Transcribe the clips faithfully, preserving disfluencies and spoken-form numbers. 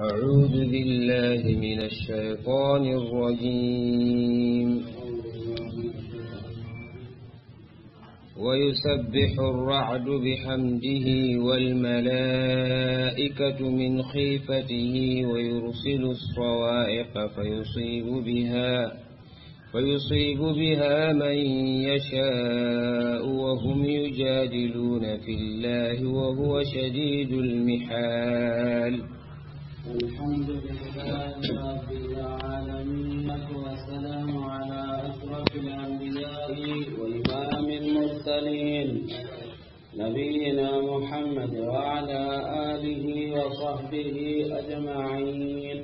أعوذ بالله من الشيطان الرجيم. ويسبح الرعد بحمده والملائكة من خيفته ويرسل الصواعق فيصيب بها، فيصيب بها من يشاء وهم يجادلون في الله وهو شديد المحال. الحمد لله رب العالمين، والصلاة والسلام على أشرف الأنبياء وإمام المرسلين، نبينا محمد وعلى آله وصحبه أجمعين.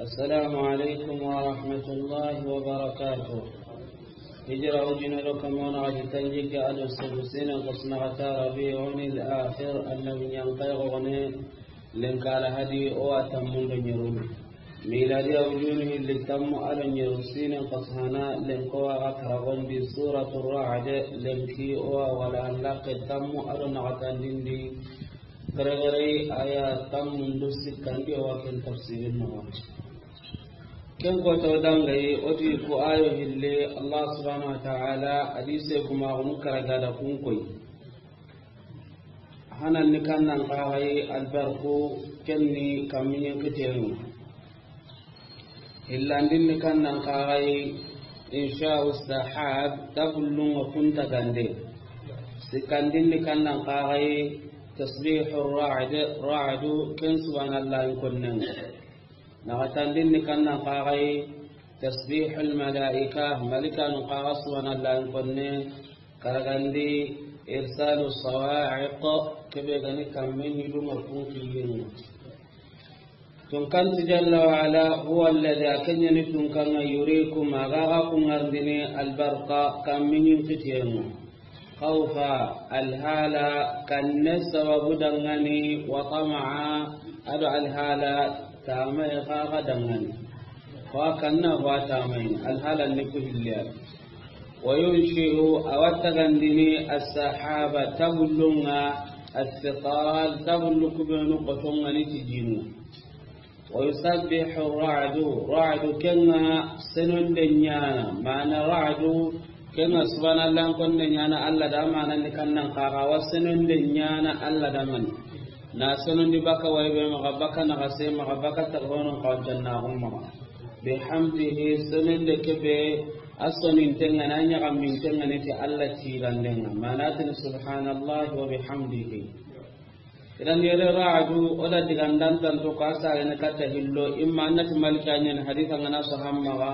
السلام عليكم ورحمة الله وبركاته. Hijira ujine do kamo na xati tanjikke do sugu siine xo sinaxata Rabiul Akhir, annabi ɲankayi xo ne, lenki alhadi o wa tammu do ɲeru. Miladiya ujunu hilli tammu do ɲeru siine xo sahana, lenki o wa ga karagondi Suratu Ra'd, lenki o wa wala laqqe tammu do naxatandindi. Kare kare aya tammu do sikkandi o wa ken tafsirin no. Ken ko to dangayi, o ti ku ayo hilli, Allah subhanahu wa ta'ala hadise kuma gunu karaga da kun koyi. Hanan ni kannan kaxayi albarku, ken ni kammiɲen kitenu. Hillandin ni kannan kaxayi insha'u sahab, tabullun ŋa kun tagande. Sikkandin ni kannan kaxayi tasbihu ra'd, ra'du ken subhanallahi konnen. Naxatandin ni kannan kaxayi tasbihul malaika, malikanu kaxa subhanallahi konne. Karagandi irsalu sawa'iq, kebe gani kamme ɲidunga kun kiyinu. Tunkanti jalla wa ala, huwa alladhi, a ken ɲa ni tunkanŋa, yurikum, a ga ga kun ŋarindini, albarqa, kammiɲin kitiyenŋa. Khawfa, alhala kanne sababu dangani, wa tama'a, ado alhala tamaye xa ga dangani. Wa kanna wa tamaye, alhala ni ku hilliya. Wa yunshi'u, a wa tagandini, as-sahaba, tabullunŋa, as-siqal, tabullu kubenu xotonŋa ni tijinu. Wa yusabbihu ra'du, ra'du kenŋa senonde ɲana, mana ra'du kenŋa subhanallah konne ɲana Allah da, mana ni kannan kaxa wa senonde ɲana Allah da man. Na senondi baka waybe maxa, baka naxase maxa, baka tagonon xawancannaxun maxa. Bihamdihi, senonde kebe, a sonintenŋa, na ɲaxamintenŋa ni ti Allah tigandenŋa. Mana tini subhanallahi wa bihamdihi. Idan yere ra'du, o da digandan tanto ka sa ne katta hillo, imma annati malika ɲen hadisa ngana so hammaga,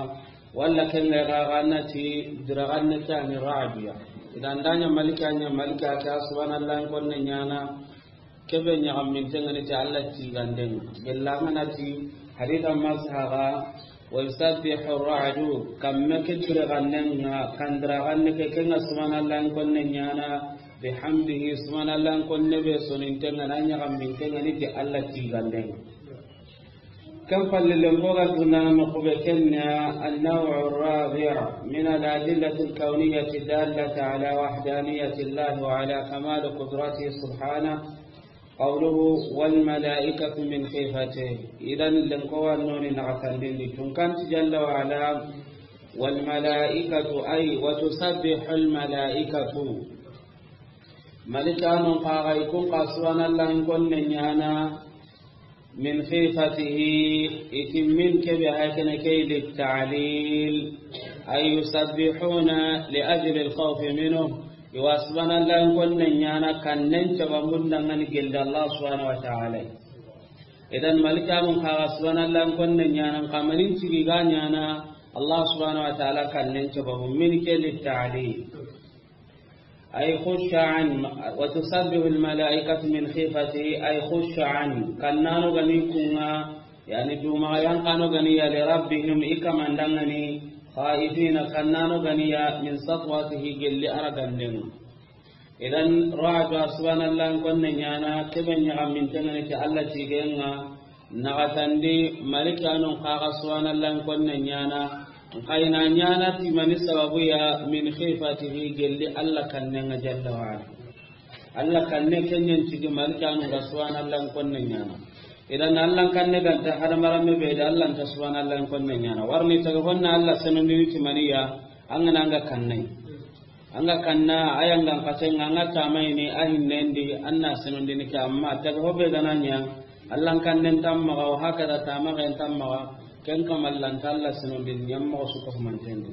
walla ken ga ga annati diraganne tani ra'du ya. Idan danya malika ɲa malika ka subhanallah konne ɲana, kebe ɲaxamintenŋa ni ti Allah tigandenŋa. Gella ngana ti hadisa masaga, wa yusabbihu ra'du, kamme ke diraganne nga, kandiraganne ke kenŋa subhanallah konne ɲana, bihamdihi, subhanallah konne be sonintenŋa, na ɲaxamintenŋa ni ti Allah tigandenŋa. Ken palle lenki o ga tunana noqu be kenna, an-naw'u ar-rabi' min al-adillati al-kawniyati ad-dallati ala wahdaniyati Allah wa ala kamali qudratihi subhanahu, qawluhu, wal malaikatu min khifatihi. Idan lenki o wa noni naxatandindi tunkanti jalla wa ala, wal malaikatu, ay, wa tusabbihu al-malaikatu. Malikanun kaxa i kun xa subhanallah konne ɲana, min khifatihi, i ti min kebe hakene ke litta'lil, ay yusabbihuna li ajli al-khawfi minhu, i wa subhanallah konne ɲana kannen cababun dangani gelle Allah subhanahu wa ta'ala. Idan malikanun kaxa subhanallah konne ɲana, kamanin cigi ga ɲana Allah subhanahu wa ta'ala kannen cababu, min ke litta'lil. Ay khusha'an, wa tusabbihu al-malaikatu min khifatihi, ay khusha'an, kannano gani kunŋa, yani duma yankano gani ya li rabbihim, i kamandangani, khaifina, kannano gani ya min satwatihi, gelli aragandenŋa. Idan ra'du subhanallah konne ɲana, kebe ɲaxamintenŋa ni ti Allah tigenŋa. Naxatandi malikanun kaxa subhanallah konne ɲana, nxayina ɲana ti mani sababu ya, min khifatihi, gelli Allah kannenŋa jalla wa ala. Alla kanne ken ɲa ni tigi malikanu ga subhanallah konne ɲaana. Idan Alla kanne ga nta hadamarenme be da, Alla nta subhanallah konne ɲaana. Warni taga honna Alla senondini ti maniya, an ga na an ga kanne. An ga kanna, a ya n ga n xase ŋa, an ga tamayini, a hinnendi, an na senondini ke, amma taga ho be ga na ɲa, Alla kannen nta maxa, wa hakada tamaxen nta maxa, ken kamalla nta Alla senondini ɲa moxo su ko mantendi.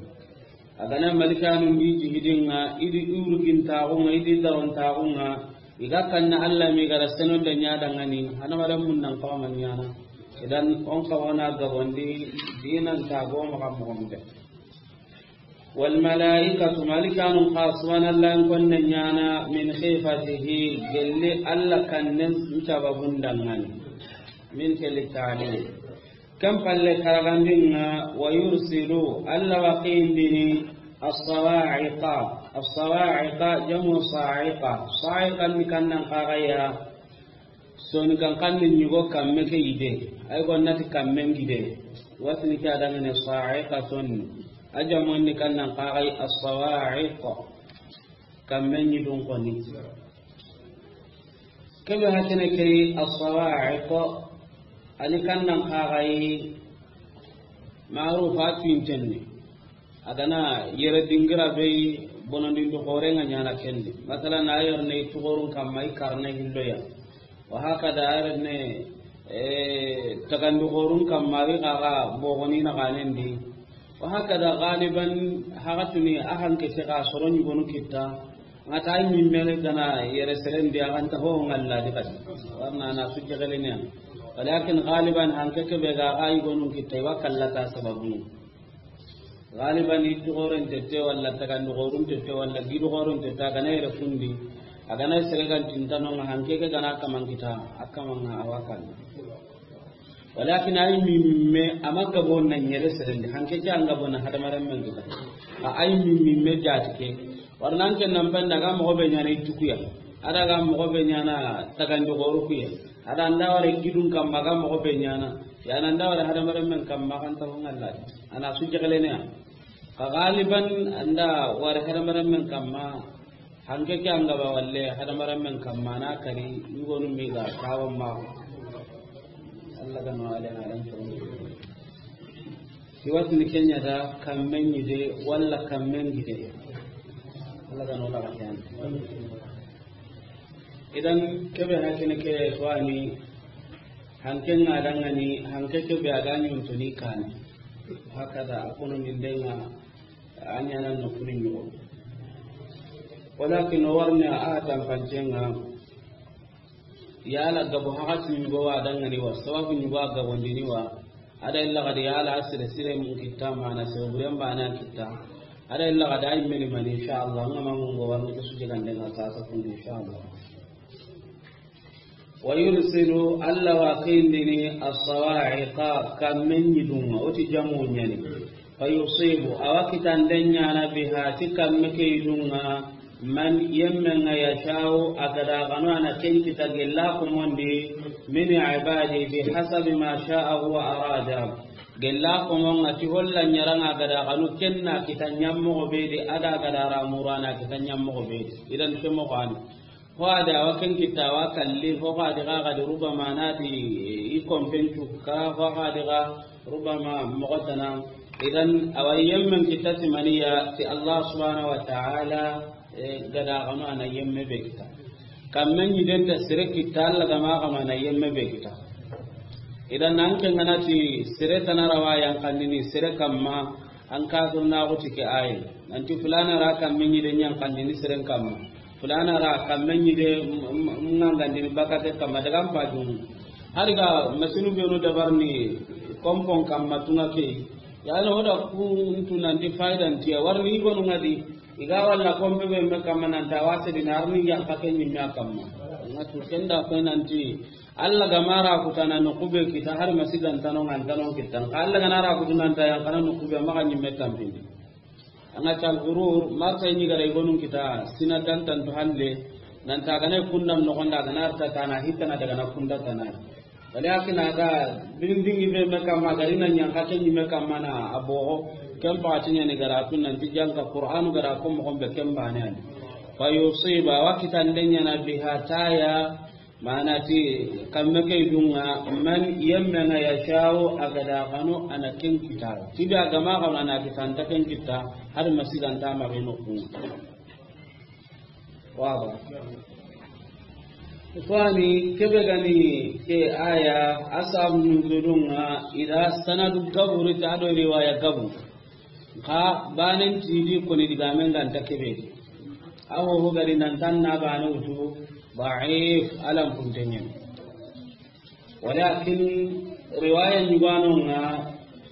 A ga na malikanu ndi jihidin ŋa, i di urugintaxu ŋa, i di darontaxu ŋa, i ga kanna Alla mi ga ra senonde ɲa dangani, hadamarenmun nan xawa ma ɲaana. Idan on xawa na gabondi, dinan ta go maxa moxo be. Wal malaikatu, malikanu xa subhanallah konne ɲaana, min khifatihi, gelli Alla kannen sababun dangani. Min ke li ta'lil. Ken palle karagandin ŋa, wa yursilu, Alla wa xindini, as-sawa'iqa. As-sawa'iqa jamu sa'iqa. Sa'iqa ni kannan xaxaya. Soni kan kanni ɲigo kamme ke yide. Ay go nati kammen gide. Watini ke a dangane sa'iqa soni. A jamu ni kannan xaxay as-sawa'iq. Kammen ɲidun koni. Kebe hakene ke as-sawa'iq. Ani kannan xaxay ma'rufa tuintenne. A ga na yere dingira be yi, bonondindi xoore ŋa ɲaana kendi. Masalan, a yere ne i tuxorun kamma i karne hilloya. Wa hakada a yere ne, eh, tagandi xoorun kamma i xaxa bogoni na xanendi. Wa hakada galiban haxatuni a hanke se xa soro ɲugonu kitta. Ŋa ta yi mimme ga na yere serendi a ga nta ho ŋalla di kadi. Warna na sujje gelene. Walakin galiban hanke ke be ga xa yugonun kitta i wa kallata sababu. Galiban i tuxoren tete walla tagandi xorun tete walla gidu xorun tete a ga na yere kundi. A ga na sere gan tintano ŋa hanke ke ga na kaman kita, a kaman ŋa a wa kan. Walakin ay mimme a ma gabo na ɲere serendi, hanke ke an gabo na hadamarenmen kita. A ay mimme jati ke. Warna an ke nan ban daga moxo be ɲaana i tukuya. A daga moxo be ɲaana tagandi xoru kuya. A da nda wara gidun kamma ga moxo be ɲaana. Ya na nda wara hadamarenmen kamma kan ta ho ŋalla. Ana su jagalene ya. Xa galiban anda wara hadamarenmen kamma. Hanke ke an gaba walle hadamarenmen kamma na kari yugonu mi ga kawo ma. Alla ga no ale na dan to. Siwatini ke ɲa da kammen ɲide walla kammen gide. Alla ga no la kan. Idan kebe hakene ke swani hanke ŋa dangani hanke kebe a ga ɲuntuni kani. Hakada a kono ni ndenga a ɲaana no kuni ɲugo. Walakin o warne a tanpancenga. Yala gabo hakati ɲugo wa dangani wa, sababu ɲugo a gabondini wa. A da illa gadi yala a sire sire mun kitta mana sire buren bana kitta. A da illa gadi ay meni mani insha Allah. Ŋa ma mun go warne ke suje gande ŋa sa sa kun insha Allah. Wa yursilu, Alla wa xindini, as-sawa'iqa, kammen ɲidun ŋa, o ti jamu ɲa ni. Fa yusibu, a wa kitanden ɲaana biha, ti kamme ke yidun ŋa, man, yemmen ŋa yasha'u, a ga da xanu a na ken kita gella komondi, min ibadi, bi hasabi ma sha'a wa arada. Gella komon ŋa ti holla ɲaran ŋa a ga da xanu ken na kita ɲammoxo be di, a da ga da ramuru a na kita ɲammoxo be di. Idan ke moxo ani. Ho a di a wa ken kitta a wa kalli, ho a di xa ga di rubama na ti i kompen cukka, ho a di xa rubama moxo tana. Idan a wa yemmen kitta ti maniya ti Allah subhanahu wa ta'ala, eh, ga da xanu a na yemme be kitta. Kammen ɲiden ta sere kitta Alla ga ma xanu a na yemme be kitta. Idan an ke ŋa na ti sere tana ra wa yan kannini sere kamma, an ka sunna ko ti ke ayi. Nanti fulana ra kammen ɲiden yan kannini seren kamma. Fulana ra kammen ɲide m-, m-, ngangandini bakate kamma daga mpajun. Hari ga masinu benu dabarni kompon kamma tunga ke. Ya no da ku ntu nanti faidan tiya warni gonu ŋa di. I ga walla kompe be me kamma nan ta wase di na arni yan ka ke ɲimme a kamma. Ŋa tu kenda ko nanti Alla ga ma ra kutana no kube kita har masidan tano ŋa tano kita. Alla ga na ra kutana ta yan kana no kube ma ga ɲimme tampindi. An ga tal gurur, marta ni ga ra i gonun kita, sina dan tan to halle, nan ta ga na kundan no gonda ga na ta tana hitana daga na kunda tana. Walakin a ga bindingi be me kamma ga ri na ɲan ka ke ɲimme kamma na a bogo, ken pa ti ɲa ni ga ra tun nan ti janga Qur'anu ga ra ko mo gombe ken bane ani. Fa yusiba, wa kitande ɲaana biha taya, mana ti kamme ke dunga, man yemme nga yasha'u, a ga da xanu a na ken kita. Ti be a ga ma xanu a na kita, a nta ken kita, har ma siganta ma be no ku. Waba. Fani kebe gani ke aya, asab nuzulunga, ida sanadu gaburi ta do riwaya gabu. Xa banen tidi koni digamen ganta kebe. Awo ho gari nan tan na bane wutu da'if, alam kuntenyen. Walakin riwaya ɲuganonga,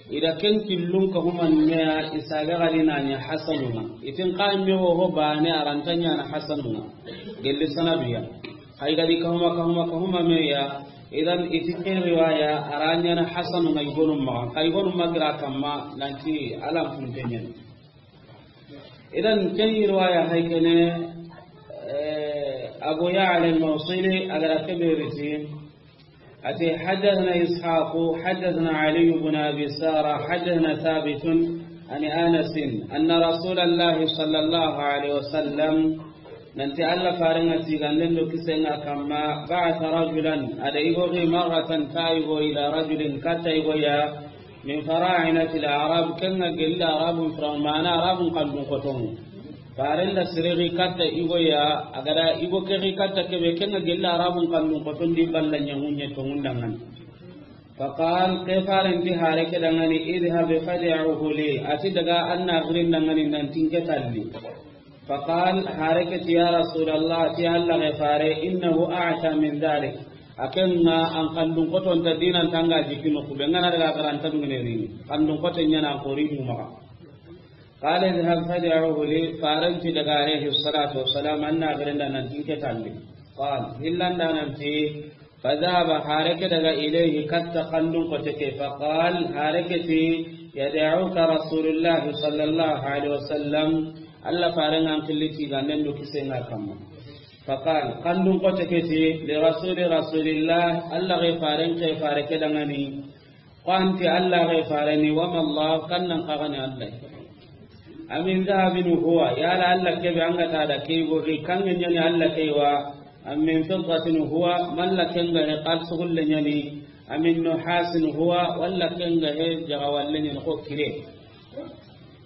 ida ken killun ka huma meya, isaga gadi na ɲa hasanunga. Itin ka me ho ho bane aranta ɲaana hasanunga. Gelli sanaduya. Hay gadi ka huma, ka huma, ka huma meya. Idan iti ke riwaya aranya na hasanunga igonum ma. Ka igonum ma gira kamma nanti alam kuntenyen. Idan ken riwaya hay kene, eh, Abu Ya'la al-Mawsili a ga da kebe riti. Ati, حدثنا إسحاق، حدثنا علي بن أبي سارة، حدثنا ثابت عن أنس أن رسول الله صلى الله عليه وسلم، nanti Alla farenga siganden do kisenga kamma, بعث رجلا، a da igo gi, مرة، ta igo, إلى رجل، katta igo ya, من فراعنة الأعراب، kenga gelli Arabun firaun, mana Arabun kandun koton. Farenda siregi katta igo ya, a ga da igo kegi katta kebe, kenga gelli Arabun kandun koton di balla ɲangunye to ngundangan. فقال، ke farenti hare ke dangani, اذهب فادعه لي، ati daga anna girin dangani nan tinke talli. فقال، hare ke ti, يا رسول الله، ti Alla ge fare, إنه أعتى من ذلك. A kenga an kandun koton ta dinan tanga jikino kube ngana daga garanta dungene rini. Kandun koton ɲaana ko ri mu maxa. قال، اذهب فادعه لي، farenti daga عليه الصلاة والسلام anna girin da nan tinke talli. قال، hillanda nanti, فذهب، hare ke daga, إليه، katta kandun kote ke, فقال، hare ke ti, يدعوك رسول الله صلى الله عليه وسلم، Alla farenga an killi tiganden do kisenga kamma. فقال، kandun kote ke ti, لرسول رسول الله، Alla ge faren ke fare ke dangani, Ko anti Alla ge fareni, وما الله، kannan kagani Alla. أمن ذهب هو، yala Alla kebe anga ta da kei go ke kange ɲani Alla kei wa, أم من فضة هو، malla kenga he xalsugulle ɲani, أم من نحاس هو، walla kenga he jagawalle ɲani ko kire.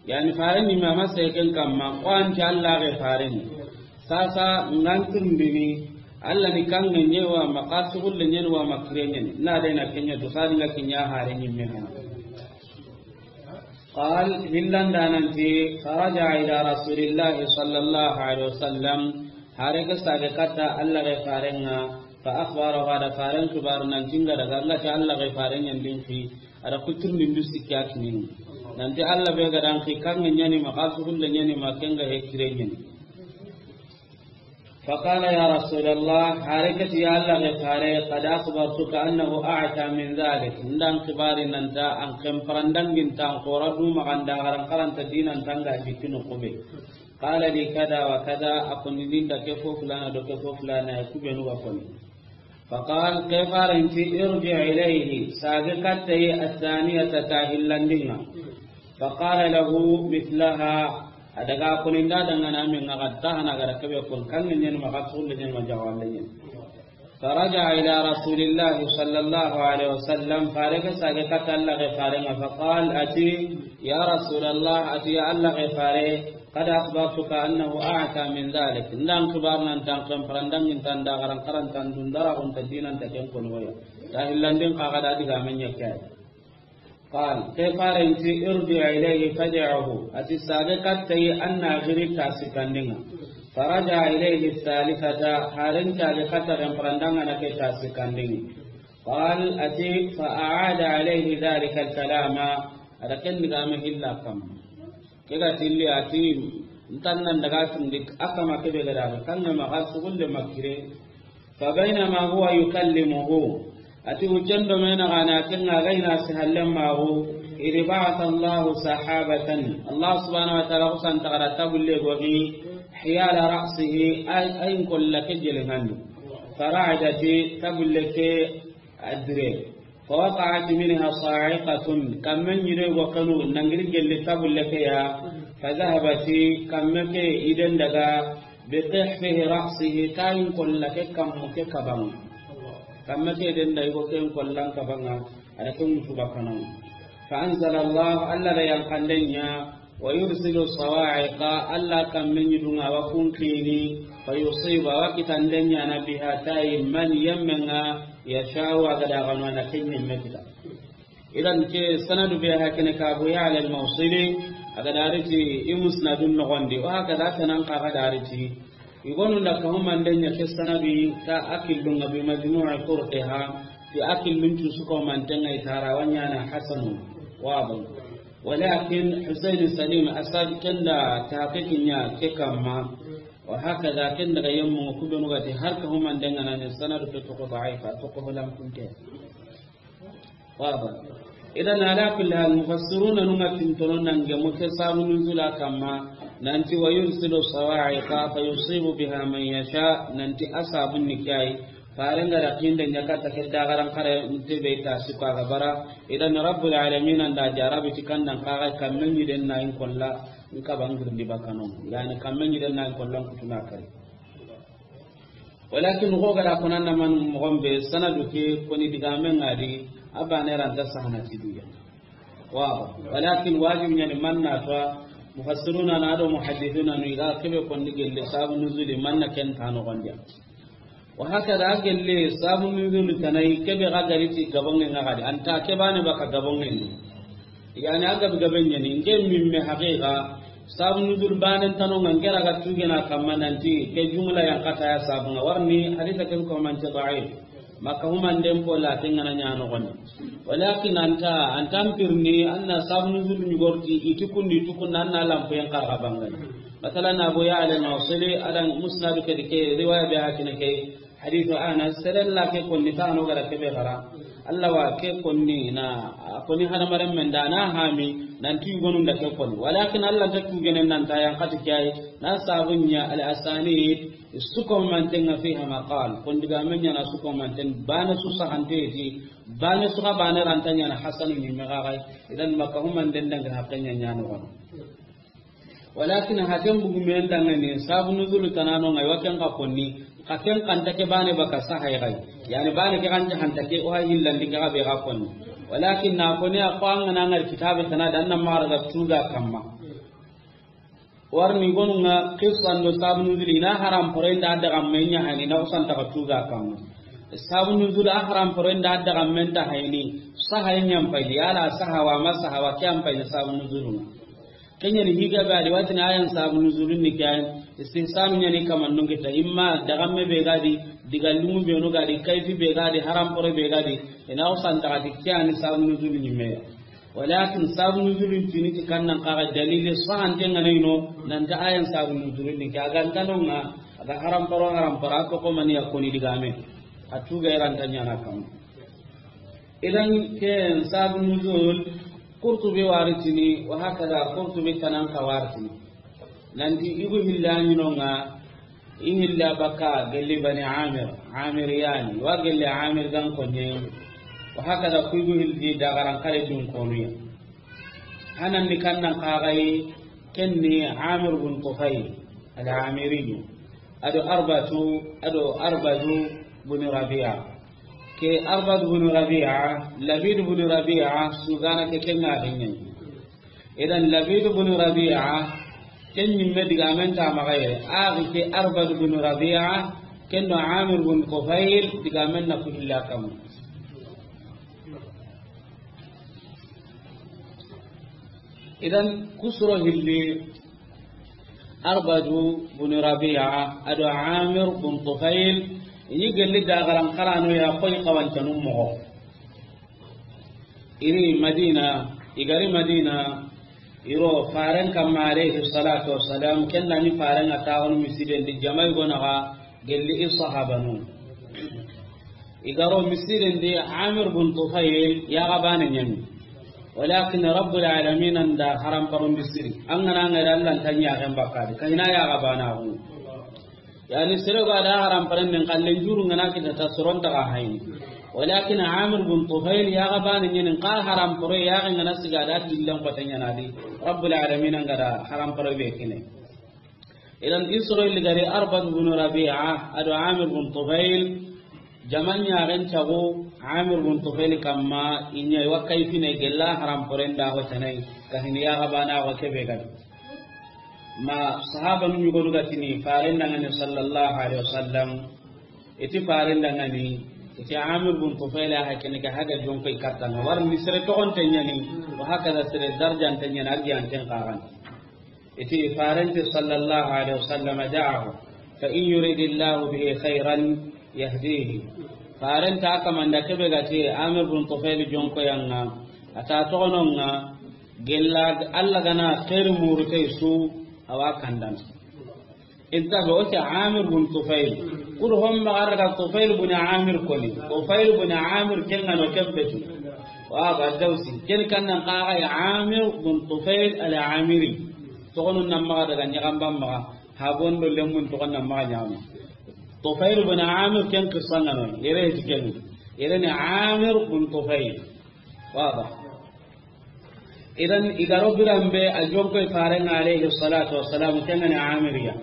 Yani fareni ma ma seken kamma, ko anti Alla ge fareni. Sasa nganturndini, Alla ni kange ɲe wa ma xalsugulle ɲani wa ma kire ɲani. Na de na kenya to sadi nga kinya hare ni me hana. قال، hillanda nanti, فرجع إلى رسول الله صلى الله عليه وسلم، hare ke sage katta Alla ge farenga, فأخبره، a da faren kibaru nanti nga daga nga ti Alla ge faren ɲandin fi, a da kuturni ndu sikki a kinini. Nanti Alla be ga dan ki kange ɲani ma xalsugulle ɲani ma kenga he kire ɲani. فقال، يا رسول الله، hare ke ti ya Alla ge fare, قد أخبرتك أنه أعتى من ذلك. Ndan kibari nanta an kemparandangin tan kora du maganda garan karanta dinan tanga jikino kube. قال لي كذا وكذا، a koni ninda ke fo fulana do ke fo fulana ya kube nu ga koni. فقال، ke farenti, ارجع إليه، sage katta yi, الثانية، ta hillandinga. فقال له مثلها، a daga koni nda dangana min nga gatta hana gara kebe kon kange ɲani ma xalsugulle ɲani ma jagawalle ɲani. فرجع إلى رسول الله صلى الله عليه وسلم، fare ke sage katta Alla ge farenga, فقال، ati, يا رسول الله، ati ya Alla ge fare, قد أخبرتك أنه أعتى من ذلك. Ndan kibar nan tan kemparandangin tan da garan karantan dundara on ta dinan ta ken kono ya. Ta hillandin kaga da diga men ya kay. قال، ke farenti, ارجع إليه فادعه، ati sage katta yi anna giri ta sikandinga. فرجع إليه الثالثة، haren sage katta kemparandanga na ke ta sikandinga. قال، ati, فأعاد عليه ذلك الكلام، a da ken diga me hilla kam. Ke ga tilli ati, ntan nan daga tundi, a kama kebe ga daga, kange ma xalsugulle ma kire. فبينما هو يكلمه، ati wucen do mena gana kenga gayna si hallen magu, إذ بعث الله سحابة، Allah subhanahu wa ta'ala kusan tagara tabulle gogi, حيال رأسه، ay, ay kolla ke jele ngandi. فرعدت، tabulle ke adire. فوقعت منها صاعقة، kamme ɲire go kanu nangiri gelli tabulle ke ya. فذهبت، kamme ke iden daga, بقحفه رأسه, tayin kolla ke kammu ke kaban ŋa. Kamma ke den da i go ken kollan kaban ŋa, a da ken wutu bakkanan ŋa. فأنزل الله, Alla da yanqanden ɲa, ويرسل الصواعق, Alla kamme ɲi du ŋa wa kun kini, فيصيب, a wa kitanden ɲa na, بها, tayi, من, yemmen ŋa, يشاء, a ga da ganu a na ken ɲemme kita. Idan ke sanadu be hakene ka Abu Ya'la al-Mawsili, a ga da ri ti i musnadun noxon di, wa hakaza tanan xa ga da ri ti. I gonu da ka humanden ɲa ke sanadu ta a killun ŋa بمجموع طرقها, ti a killun cu su ko manten ŋa i tara wa ɲa na hasanun. Wado. ولكن Husayn Salim Asad ken da tahqiqi ɲa ke kamma. Wa hakaza ken da ga yemmu ku be nu ga ti har ka humanden ŋa na ne sanadu ke to ko da'ifa, to ko holan kunte. Waba. Idan ala kulli hal, mufassiruna nu ŋa tintono nange mo ke sabu nuzula kamma, nanti ويرسل الصواعق فيصيب بها من يشاء, nanti a sabun ni kai, faren ga da kinde ɲa katta ke da garan kare nte be ta su ka ga bara, idan Rabbul Alamin an da jarabi ti kandan ka ga kamme ɲi den na in kolla, in ka bangir di bakano, yani kamme ɲi den na in kollan kutuna kare. Walakin xo ga da ko nan na man moxon be sanadu ke koni digamen ŋa di, a bane ranta sahana ti duya. Wa, walakin wajib ɲa ni man na to, mufassiruna na do muhaddithuna nu i ga kebe konni gelle sabu nuzuli man na ken ta noxon di ya. Wa hakaza gelle sabu nuzuli tana i kebe ga gari ti gabonŋe ŋa ga di, anta ke bane baka gabonŋe ni. Yani a gabe gabe ɲa ni, nke mimme haqiqa, sabu nuzul banen tano ŋa nke ra ga tugena kamma nanti, ke jumla yan kata ya sabu ŋa warni, hadisa ken ko manti da'if. Maka humanden po la ten ŋa na ɲa noxon di. Walakin anta, anta mpirni, anna sabu nuzul ɲi gorti, i ti kundi, i ti kundi, anna lampo yan karga bangani. Masalan, Abu Ya'la al-Mawsili, adan musnadu ke di ke, riwaya be hakine ke, Hadithu Anas, seren la ke konni tano ga da kebe xara. Alla wa ke konni na, a konni hadamaren men da na hami, nanti yugonun da ke konni. Walakin Alla ta tugenen nan ta yan kati kiyai, na sabun ɲa al-asanid, su ko manten ŋa fiha maqal. Kon digamen ɲa na su ko manten, bana su sahante ti, bana su ka bana ranta ɲa na hasanu ni me ga gai. Idan maka humanden dangi haqqen ɲa ɲa no. Walakin haten bugu men dangani, sabu nuzulu tanano ŋa i wa ken ka konni, ka ken kanta ke bane baka sahay gai. Yani bane ke kanta hanta ke o ha hillandi ke ga be ga konni. Walakin na konni a ko an ga na ŋari kitabe tana dan na mara ga tuga kamma. Warni gonu ŋa qissa ndo sabu nuzulu i na haram pore nda daga men ɲa hani na usan ta ga tuga kamma. Sabu nuzulu a haram pore nda daga men ta hayni. Sahay ɲam pay yala sahawa ma sahawa ke am pay sabu nuzulu ŋa. Ken ɲa ni higa be a di watini ayan sabu nuzulun ni ke ayan. Istihsan ɲa ni kaman nun kita imma dagamme be ga di, diga lumu be no ga di, kayfi be ga di, haram pore be ga di. Ina o santa ga di ke ani sabu nuzulun ni me. Walakin sabu nuzulun tini ti kannan kaga dalili sahante ŋa na ino, nan ta ayan sabu nuzulun ni ke a ga ntano ŋa, a ga haram poro haram poro a to ko mani ya koni digame. A tuga iran ta ɲa na kam. Idan ke sabu nuzul, Qurtubi waritini, wa hakaza Qurtubi tanan ka waritini. Nanti igu hilla ɲi no ŋa, i hilla baka gelli Bani Amir, Amir yani, wa gelli Amir gan konne. Wa hakaza ku igu hildi dagaran kare dun konuya. Hanan di kannan kagai kenni Amir bin Tufayl al-Amiriyu. Ado Arbatu, ado Arbadu bin Rabi'a. Ke Arbad bin Rabi'a, Labid bin Rabi'a, sugana ke kenga kenyani. Idan Labid bin Rabi'a, ken ɲimme digamen ta magaye, axi ke Arbad bin Rabi'a, ken do Amir bin Tufayl, digamen na ku hilla kam. Idan kusuro hilli Arbadu bin Rabi'a, ado Amir bin Tufayl, i ɲi gelli dagaran karano ya koy kawancanun moxo. Iri Madina, i gari Madina, iro faren kamma alayhi salatu wassalam, ken da ni faren a taxunu misiden di jamai gonaxa, gelli i sahabanu. I garo misiren di Amir bin Tufayl ya ga bane ɲani. Walakin Rabbul Alamin an da haram paron bisiri. An ga na ŋari Allah ta ɲa ga bakadi. Kayna ya ga bana hu. Yani sere ga da haram paron nin kallen juru ngana kita ta soron ta ga hayni. Walakin Amir bin Tufayl ya ga bane ɲani ka haram paro ya ga ngana siga da dillan ko ta ɲana di. Rabbul Alamin an ga da haram paro be kine. Idan Israil gari Arbad bin Rabi'a ado Amir bin Tufail, jaman ɲaxen cago Amir bin Tufail kamma, i ɲa i wa kayfine gella haram poren da ho tanai, kahini ya gabana wa kebe gadi. Ma sahabanu ɲugonu ga tini faren dangani sallallahu alaihi wasallam, i ti faren dangani, i ti Amir bin Tufail a hakene ga haga jonko i kattanga. War ni sere toxon tenyani, wa hakaza sere darjan tenyani, agiyan ten kagan. I ti faren ti sallallahu alaihi wasallam, da'ahu, fa in yuridillahu bihi khairan yahdihi. Faren ta kamanda kebe ga ti Amir bin Tufail jonko yanga, ata toxononga, gella Allah gana khair murutay su, awa kandan. Inta be o ti Amir bin Tufail. Kur homma arga Tufail bin Amir koni. Tufail bin Amir kenga no kembetu. Wa ba Dawsi. Ken kannan kaga ya Amir bin Tufail al-Amiri. Toxonu namma daga ɲaxamban maxa. Habondo lemun toxon namma ɲama. Tufail bin Amir ken kisangano. Yere ti ken. Yere ni Amir bin Tufail. Wa ba. Idan i garo biran be a jonko i faren ŋa alayhi salatu wassalam, kengani Amiriya.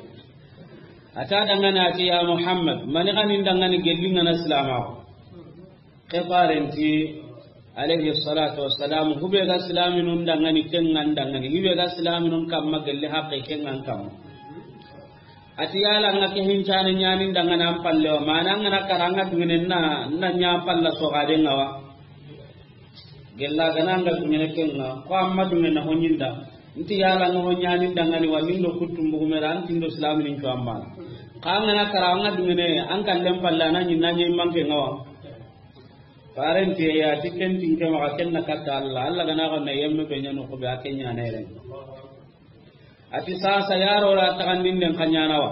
A ta dangana a ti, ya Muhammad, mani xa nin dangani gelli ŋa na silamaxu? Ke faren ti alayhi salatu wassalam, hube ga silaminun dangani, kengan dangani, hube ga silaminun kamma gelli haqqe kengan kamma. A ti yala ŋa ke hincane ɲanin dangana an palle wa, mana ŋa na kara ŋa dungene na, na ɲa palla soxaden ŋa wa. Gella gana ŋa dungene kenga, ko amma dungene na honyinda. Nti yala ŋa honyani dangani wa nindo kuttum bugumera, antindo silaminin cuwamba. Xa ŋa na kara ŋa dungene, an kallen palla na ɲinna ɲe manke ŋa wa. Parenti ya ti ken tinke maxa ken na katta Allah. Allah gana ko na yemme be ɲano ko be a ken ɲana yere. A ti sasa yaro ra taxandinden xa ɲana wa.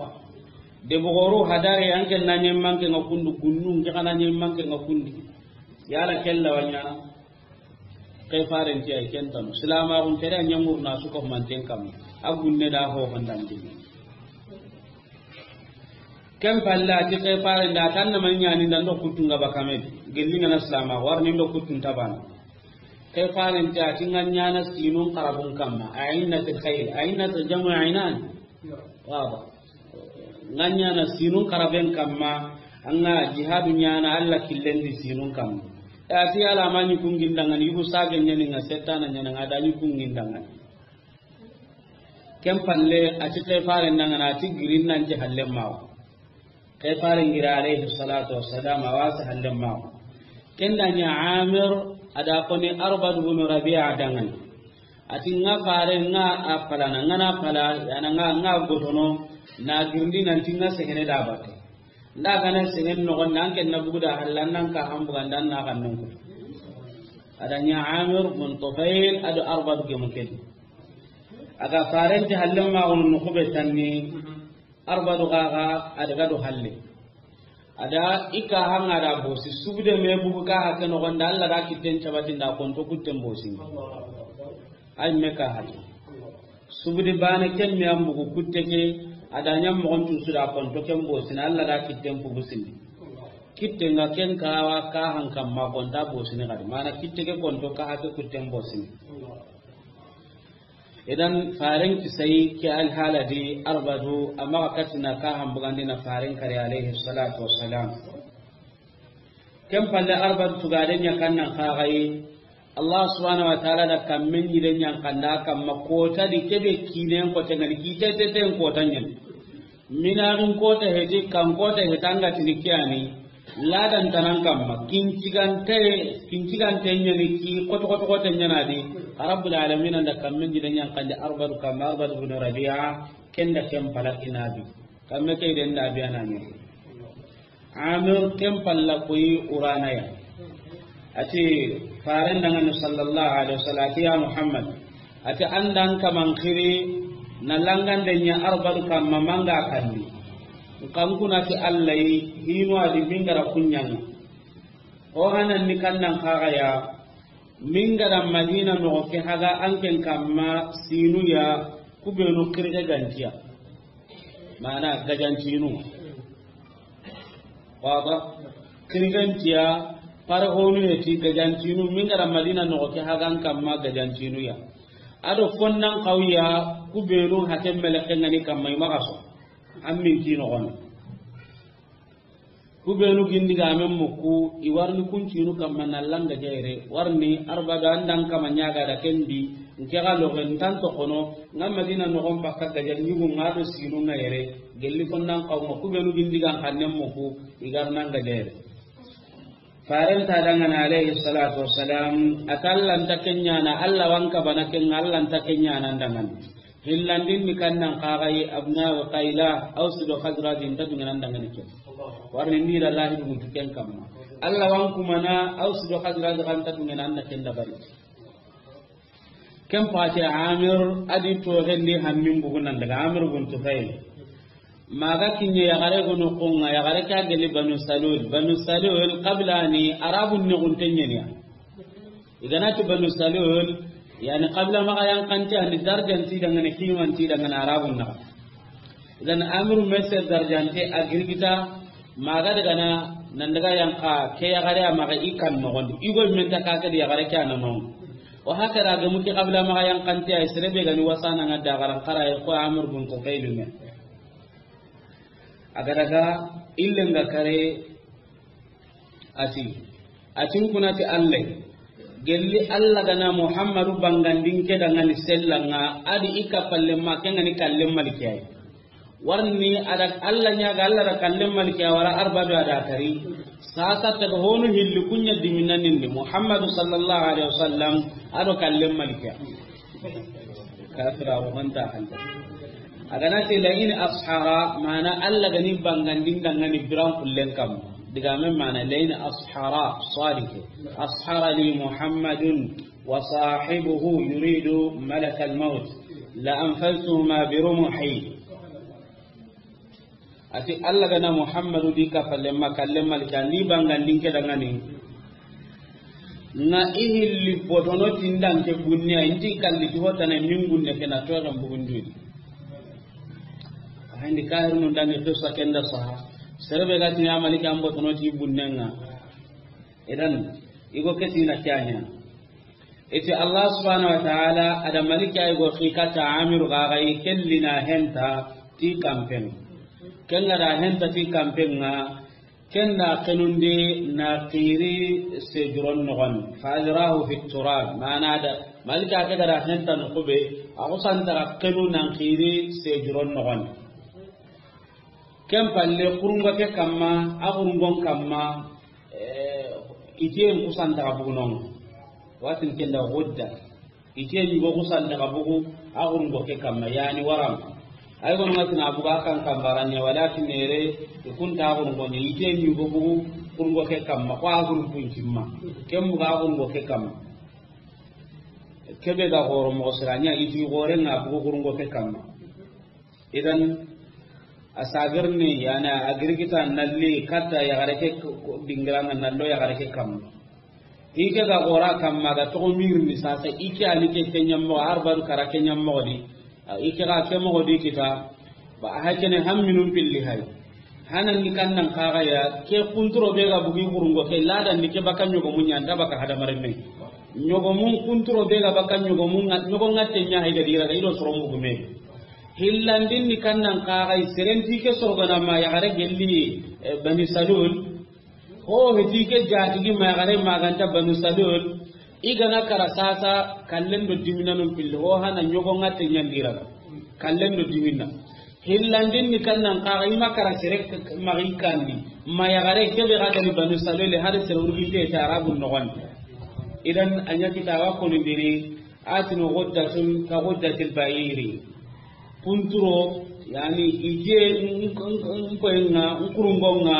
De bogoru hadare an ken na ɲe manke ŋa kundu gunnun ke xa na ɲe manke ŋa kundi. Yala kella wa ɲana. Ke faren ti ay ken tanu. Silamaxun tere a ɲamurna su ko manten kam. A gunne da ho hondandi. Ken palle a ti ke faren da tan na man ɲani dan do kuttunga bakame. Gelli ŋa na silama warni do kuttun tabana. Ke faren ti a ti ŋa ɲana sinun xarabun kamma. A'innatil khayl. A'innatil jam'u a'inan. Waba. Ŋa ɲana sinun xaraben kamma, an ŋa jihadu ɲana Allah killen di sinun kamma. E a ti yala ma ɲi kungin dangani, yugu sagen ɲani ŋa, setana ɲana ŋa, da ɲi kungin dangani. Ken palle a ti ke faren dangana, a ti girin nan ti hallen mawa. Ke faren gira alayhi salatu wassalam, a wa sa hallen mawa. Ken da ɲa Amir, a da koni Arbad bin Rabi'a dangani. A ti ŋa fare ŋa a palana, ŋa na pala, yana ŋa, ŋa gotono, na girindi nan ti ŋa sehene da batte. Nda gana sehen noxon, nan ken na bugu da hallan nan ka hambuga ndan na kan nunku. A da ɲa Amir bin Tufail ado Arbad gemu ken. A ga faren ti hallen ma gonu no kube tanni. Arbadu gaga a daga do halle. A da i ka hanga da bosi, subude me bugu ka hake no gonda, Allah da kitten cabati nda konto kutten bosi. Ay me ka hake. Subudi bane ken me an bugu kutte ke, a da ɲam mo on tusu da konto ken bosi, na Allah da kitten bugu sini. Kitten ga ken kawa ka han kamma konta bosi ni kadi. Mana kitte ke konto ka hake kutten bosi. Idan faren kisai ke alhala di Arbadu, amma katina ka hambugandi na faren kare alayhi salatu wassalam. Ken palle Arbadu tugaden ɲa kannan kaxayi. Allah subhanahu wa ta'ala da kammen ɲiden ɲan kanda kamma kota di kebe kinen kota ngani kite teten kota ɲan. Minaxin kota heti, kan kota heti, an ga tini kiyani, ladan tanan kamma, kincigante, kincigante ɲani ki, koto koto koto ɲana di, Rabbul Alamin anda kammen jide ɲan kande Arbadu kamma, Arbadu bin Rabi'a, kenda ken pala inabi. Kamme ke den da bi anani. Amir ken palla koyi urana ya. A ti faren dangani sallallahu alaihi wasallam, a ti ya Muhammad, a ti andan kaman xiri na langande ɲa Arbadu kamma manga kandi. Nkan kuna ti Allah yi hinu adi mingara kunyanga. O hanan ni kannan kaga ya mingara Madina no ke haga anken kamma sinu ya kubenu kirge gantiya. Mana gajantinu. Waba. Kirgantiya, pare honu heti gajantinu, mingara Madina no ke hagan kamma gajantinu ya. Ado fonnan kawiya, kubenu hatem meleke ngani kamma imagaso. An min ki noxono. Ku benu gindi ga men muku, i warni kuncinu kamma na langa jayre, warni arbado andan kama ɲaga da kendi, nke ga loxe ntan toxono, nga Madina noxon pakka gaja ɲugu nga do sinu nga yere, gelli konnan xawma ku benu gindi ga xannen muku, i gar nanga jayre. Faren ta dangana alayhi salatu wassalam, a ta Alla nta kenyana, Alla wanka bana kenga, Alla nta kenyana dangana. Hillandin ni kannan kagai abna wa qaila, Aus do Khazraj nta dungana dangana ke. Warni ni da lahi dugu ken kamma. Alla wanku mana, Aus do Khazraj kan ta dungana na ken da bari. Ken pati Amir adi to gandi hammin bugunan daga Amir bun Tufail. Maga kinye yaxare gono konga, yaxare ka geli Banu Salul. Banu Salul qabila ni Arabun ne gunten ɲeniya. Iganati Banu Salul, yani qabila maga yankante ani darjanti dangane kimanti dangane Arabun na. Idan Amir mese darjante a girgita, maga daga na, nan daga yanka ke yaxare a maga i kan noxondi. Igo men ta ka ke di yaxare ke a na non. O haka da ga muti qabila maga yankante ay serebe gani wasana nga da garan kara ay ko Amir bun Tufail me. A ga daga illen ga kare ati. Atin kunati Alla. Gelli Alla gana Muhammadu bangandin ke dangani sellanga adi i kapalle ma kengani kallen maliki ay. Warni ada Alla ɲaga Alla da kallen maliki a wara arbado ada kari. Sasa taga honu hilli kunya diminanindi Muhammadu sallallahu alaihi wasallam ado kallen maliki a. Kafira wo manta hanta. A gana te la in ashara, mana Alla gani bangandin dangani biran kullen kam. Diga men mana la in ashara sadiq. Ashara li Muhammadun wa sahibuhu yuridu malakal maut. La anfaltuhuma bi rumuhi. Ati Alla gana Muhammadu di kapalle ma kallen maliki a ni bangandin ke dangani. Nga i hilli botono tindan ke bunne a inti kalli ti hotana min gunne ke na toxen bugundi. Ahindi kahirnu dangi qissa kenda saha. Serebe ga ti ya maliki an botono ti bunne nga. Idan igo ke tina kyanya. Iti Allah subhanahu wa ta'ala ada maliki ay go xikata Amiru gaga i kellina henta ti kampen. Kenga da henta ti kampen nga, kenda kenundi na qiri sejuron nogon. Fa ajrahu fi turab. Mana da maliki ake ga da henta no kube, a kusanta kenu nan qiri sejuron nogon. Ken palle kurungo ke kamma, a kurungon kamma, eh, itiyen kusanta ka bugu non. Watin kenda godda. Itiyen yugo kusanta ka bugu, a kurungo ke kamma, yani waram. Ay gono ngatina bugu a kan kambaranya, walakin nere, ikunta a kurungo ni, itiyen yugo bugu, kurungo ke kamma, ko a kurun kuncimma. Ken bugu a kurungo ke kamma. Kebe ga goro mo siranya, iti gore nga bugu kurungo ke kamma. Idan, a sagirni, yani, a girgita nalli, katta yaxare ke ko-, ko-, dingiranga nallo yaxare ke kamma. Ike ga gora kamma, ga togo mirni sasa, ike ani ke kenyammo, arbadu kara kenyammo di. A, ike ga ke mogo di kita, ba, a hakene hamminun pilli hay. Hanan ni kannan kaga ya, ke kunturo be ga bugi kurungo ke, ladan ni ke baka ɲogomun ɲa, nta baka hadamaren me. Ɲogomun kunturo be ga baka ɲogomun ŋa-, ɲogo ngatte ɲa hay ga dira ga ido soron bugu me. Hillandin ni kannan kaga i serenti ke sorgana ma yaxare gelli, eh, Bani Salul. Ho heti ke jatigi ma yaxare maganta Bani Salul. I gana kara sasa kallen do diminanun pilli. Ho hana ɲogo ngatte ɲandira. Kallen do diminna. Hillandin ni kannan kaga i ma kara sere k-, k-, magi kandi. Ma yaxare kebe ga gani Banu Salul hari sere urginte ta Arabun nogon. Idan a ɲa kita wa koni diri. Atinu ghuddatun ka ghuddatil ba'iri. Kunturo, yani, ije, n-, n-, n-, nkoyenga, nkurungonga,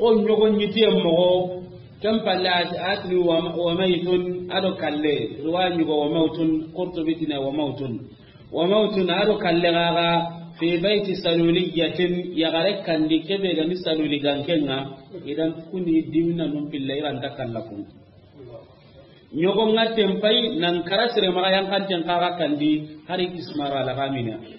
o ɲogo ɲitiye mogo, ken palle at-, atini wa, wa maytun, ado kalle, riwaya ɲugo wa mawtun, Qurtubi tine wa mawtun. Wa mawtun, ado kalle gaga, fi bayti saluliyatin, yaxare kandi kebe gani saluli gankenga, idan kuni dimna num pilla iranta kallakun. Ɲogo ngatten pay nan kara sere maxa yankanten kaxa kandi hari kismara laxamina.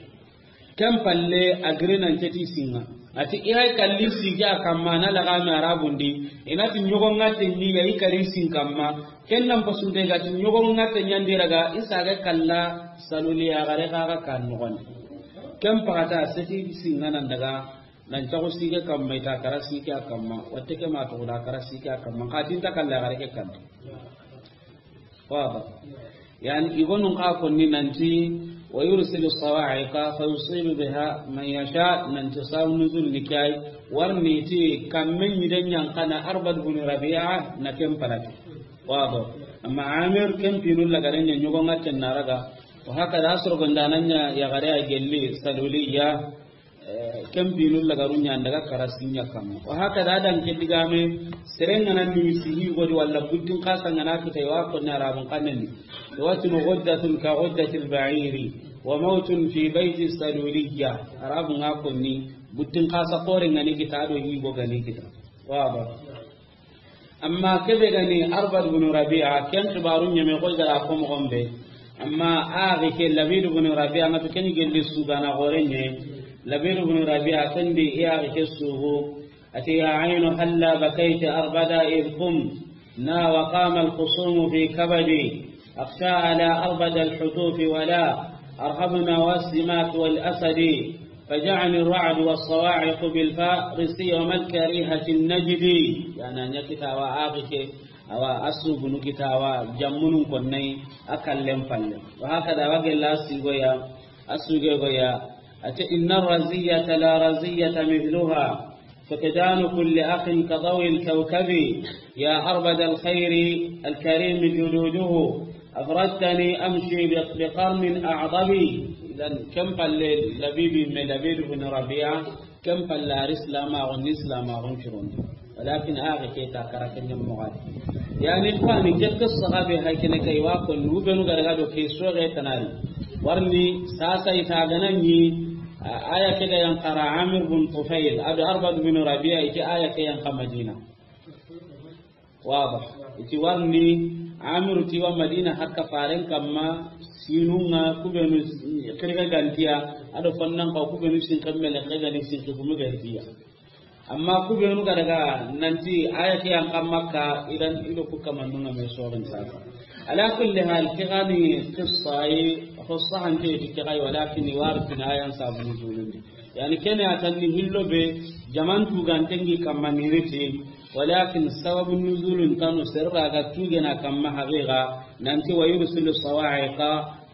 Ken palle a giri nan ceti singa. Ati i hay kalli sigi a kamma na laxami arabundi. Inati ɲogo ngatten ɲiga i kari sin kamma. Ken nan pasunte gati ɲogo ngatten ɲandiraga i saga kalla saluli yaxare kaxa kan noxondi. Ken paxata seti sinŋa nan daga, nan caxu sike kamma, i ta kara sike a kamma, watte ke ma toxo da kara sike a kamma, xa tinta kalla gare ke kanta. Waba. Yani, i gonun xa konni nanti, ويرسل الصواعق فيصيب بها من يشاء, nanti sababu nuzul ni ke yi, warni ti kamme ɲi den ɲa n xana Arbad bin Rabi'a na ken palati. Waba. Amma Amir ken pinu lagare ɲa ɲogo ŋa ten na raga. Wa hakada a soro gonda nan ɲa yaxare a gelli Saluliya, eh, ken pinu lagaru ɲa n daga kara sinya kamma. Wa hakada a dan ke digame, sere ŋa na nimisi hi godi walla buttin xasa ŋa na kita i wa konni Arabun xannen di. I wa tinu غدة كغدة البعير وموت في بيت السلولية. Arabun ŋa konni buttin xasa xore ŋa ni kita do hi go ga ni kita. Waba. Amma kebe gani Arbad bin Rabi'a, ken xibaru ɲeme xoy gara ko moxon be. Amma axi ke Labid bin Rabi'a, ŋa to ken gelli sugana gore ɲe. Labid bin Rabi'a ken di i axi ke sugu. Ati: يا عين هلا بكيت أربدا إذ قمنا وقام الخصوم في كبدي. أخشى على أربد الحتوف ولا أرهبنا والسماك والأسد. فجاءني الرعد والصواعق بالفارس يوم الكريهة النجد. Yani, a ɲa kita wa axi ke, awa a sugunu kita wa jammunun konnai, a kallen palle. Wa hakada wa gella sigoya, a sugegoya. Ati: إن الرزية لا رزية مثلها. فقدان كل أخ كضوء الكوكب، يا أربد الخير الكريم جدوده، أفردتني أمشي بقرن أعضب. Idan, ken palle Labidu me Labidu bin Rabi'a, ken palle a ri Islamaxun ni Islamaxun curondi. Walakin a ga ke ta kara ken ɲa moxo di. Yani, fani ke qissa ga be hay kene kay wa ko nu be nu ga daga do ke soxe tanari. Warni sasa i ta gana ɲi, a, aya ke ga yan xara Amir bin Tufail, a do Arbad bin Rabi'a, i ti aya ke yan xa Madina. Waba. I ti warni Amir ti wa Madina hakka faren kamma, sinunga kubenu xirga gantiya, a do fannan ka kubenu sin kammele xirga ni sin kumu gantiya. Amma kubenu ga daga nanti aya ke yan xa Makka, idan i do ku kamandunga me soxin sasa. Ala kulli hal, ke gani qissa yi, qissa hante ti ke gai, walakin i wari tina ayan sabu nuzulun di. Yani, kene a tanni hillo be, jaman tugantengi kamma niriti, walakin sababu nuzulun tanu serra ga tugena kamma haqiqa, nanti: ويرسل الصواعق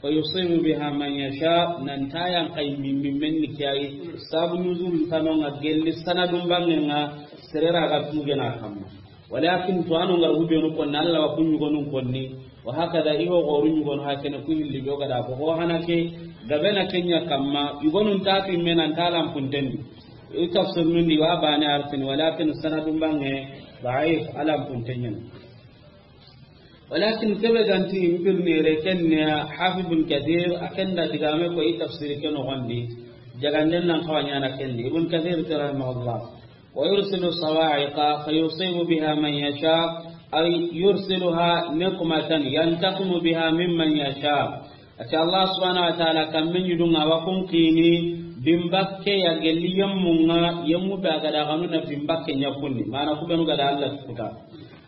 فيصيب بها من يشاء, nan ta yan kay min, min, men ni kiyayi, sabu nuzul tano nga gelli sanadun bangenga, serera ga tugena kamma. Walakin to anu ngar hubenu konni, Allah wa kun yugonun konni, wa hakada i ho goru yugon hakene ku hilli be o gada ko ho hana ke, gabe na kenya kamma, yugonun ta ti menan ta lampuntendi. I tafsir nundi wa bane artini, walakin sanadun bange daif, a lampuntenyen. Walakin kebe ganti mpirnire kenne Hafiz Ibn Kathir, a kenda digame ko i tafsir ke no gondi, jaganden nan kawanyana kendi. Ibn Kathir ti rahimahullah: ويرسل الصواعق فيصيب بها من يشاء، أي يرسلها نقمة ينتقم بها ممن يشاء. Ati Allah subhanahu wa ta'ala kamme ɲidunga wa kun kini bimbakke ya gelli yemmunga, yemmu be a gada ganu na bimbakke ɲakundi. Mana kubenu gada Allah tukuta.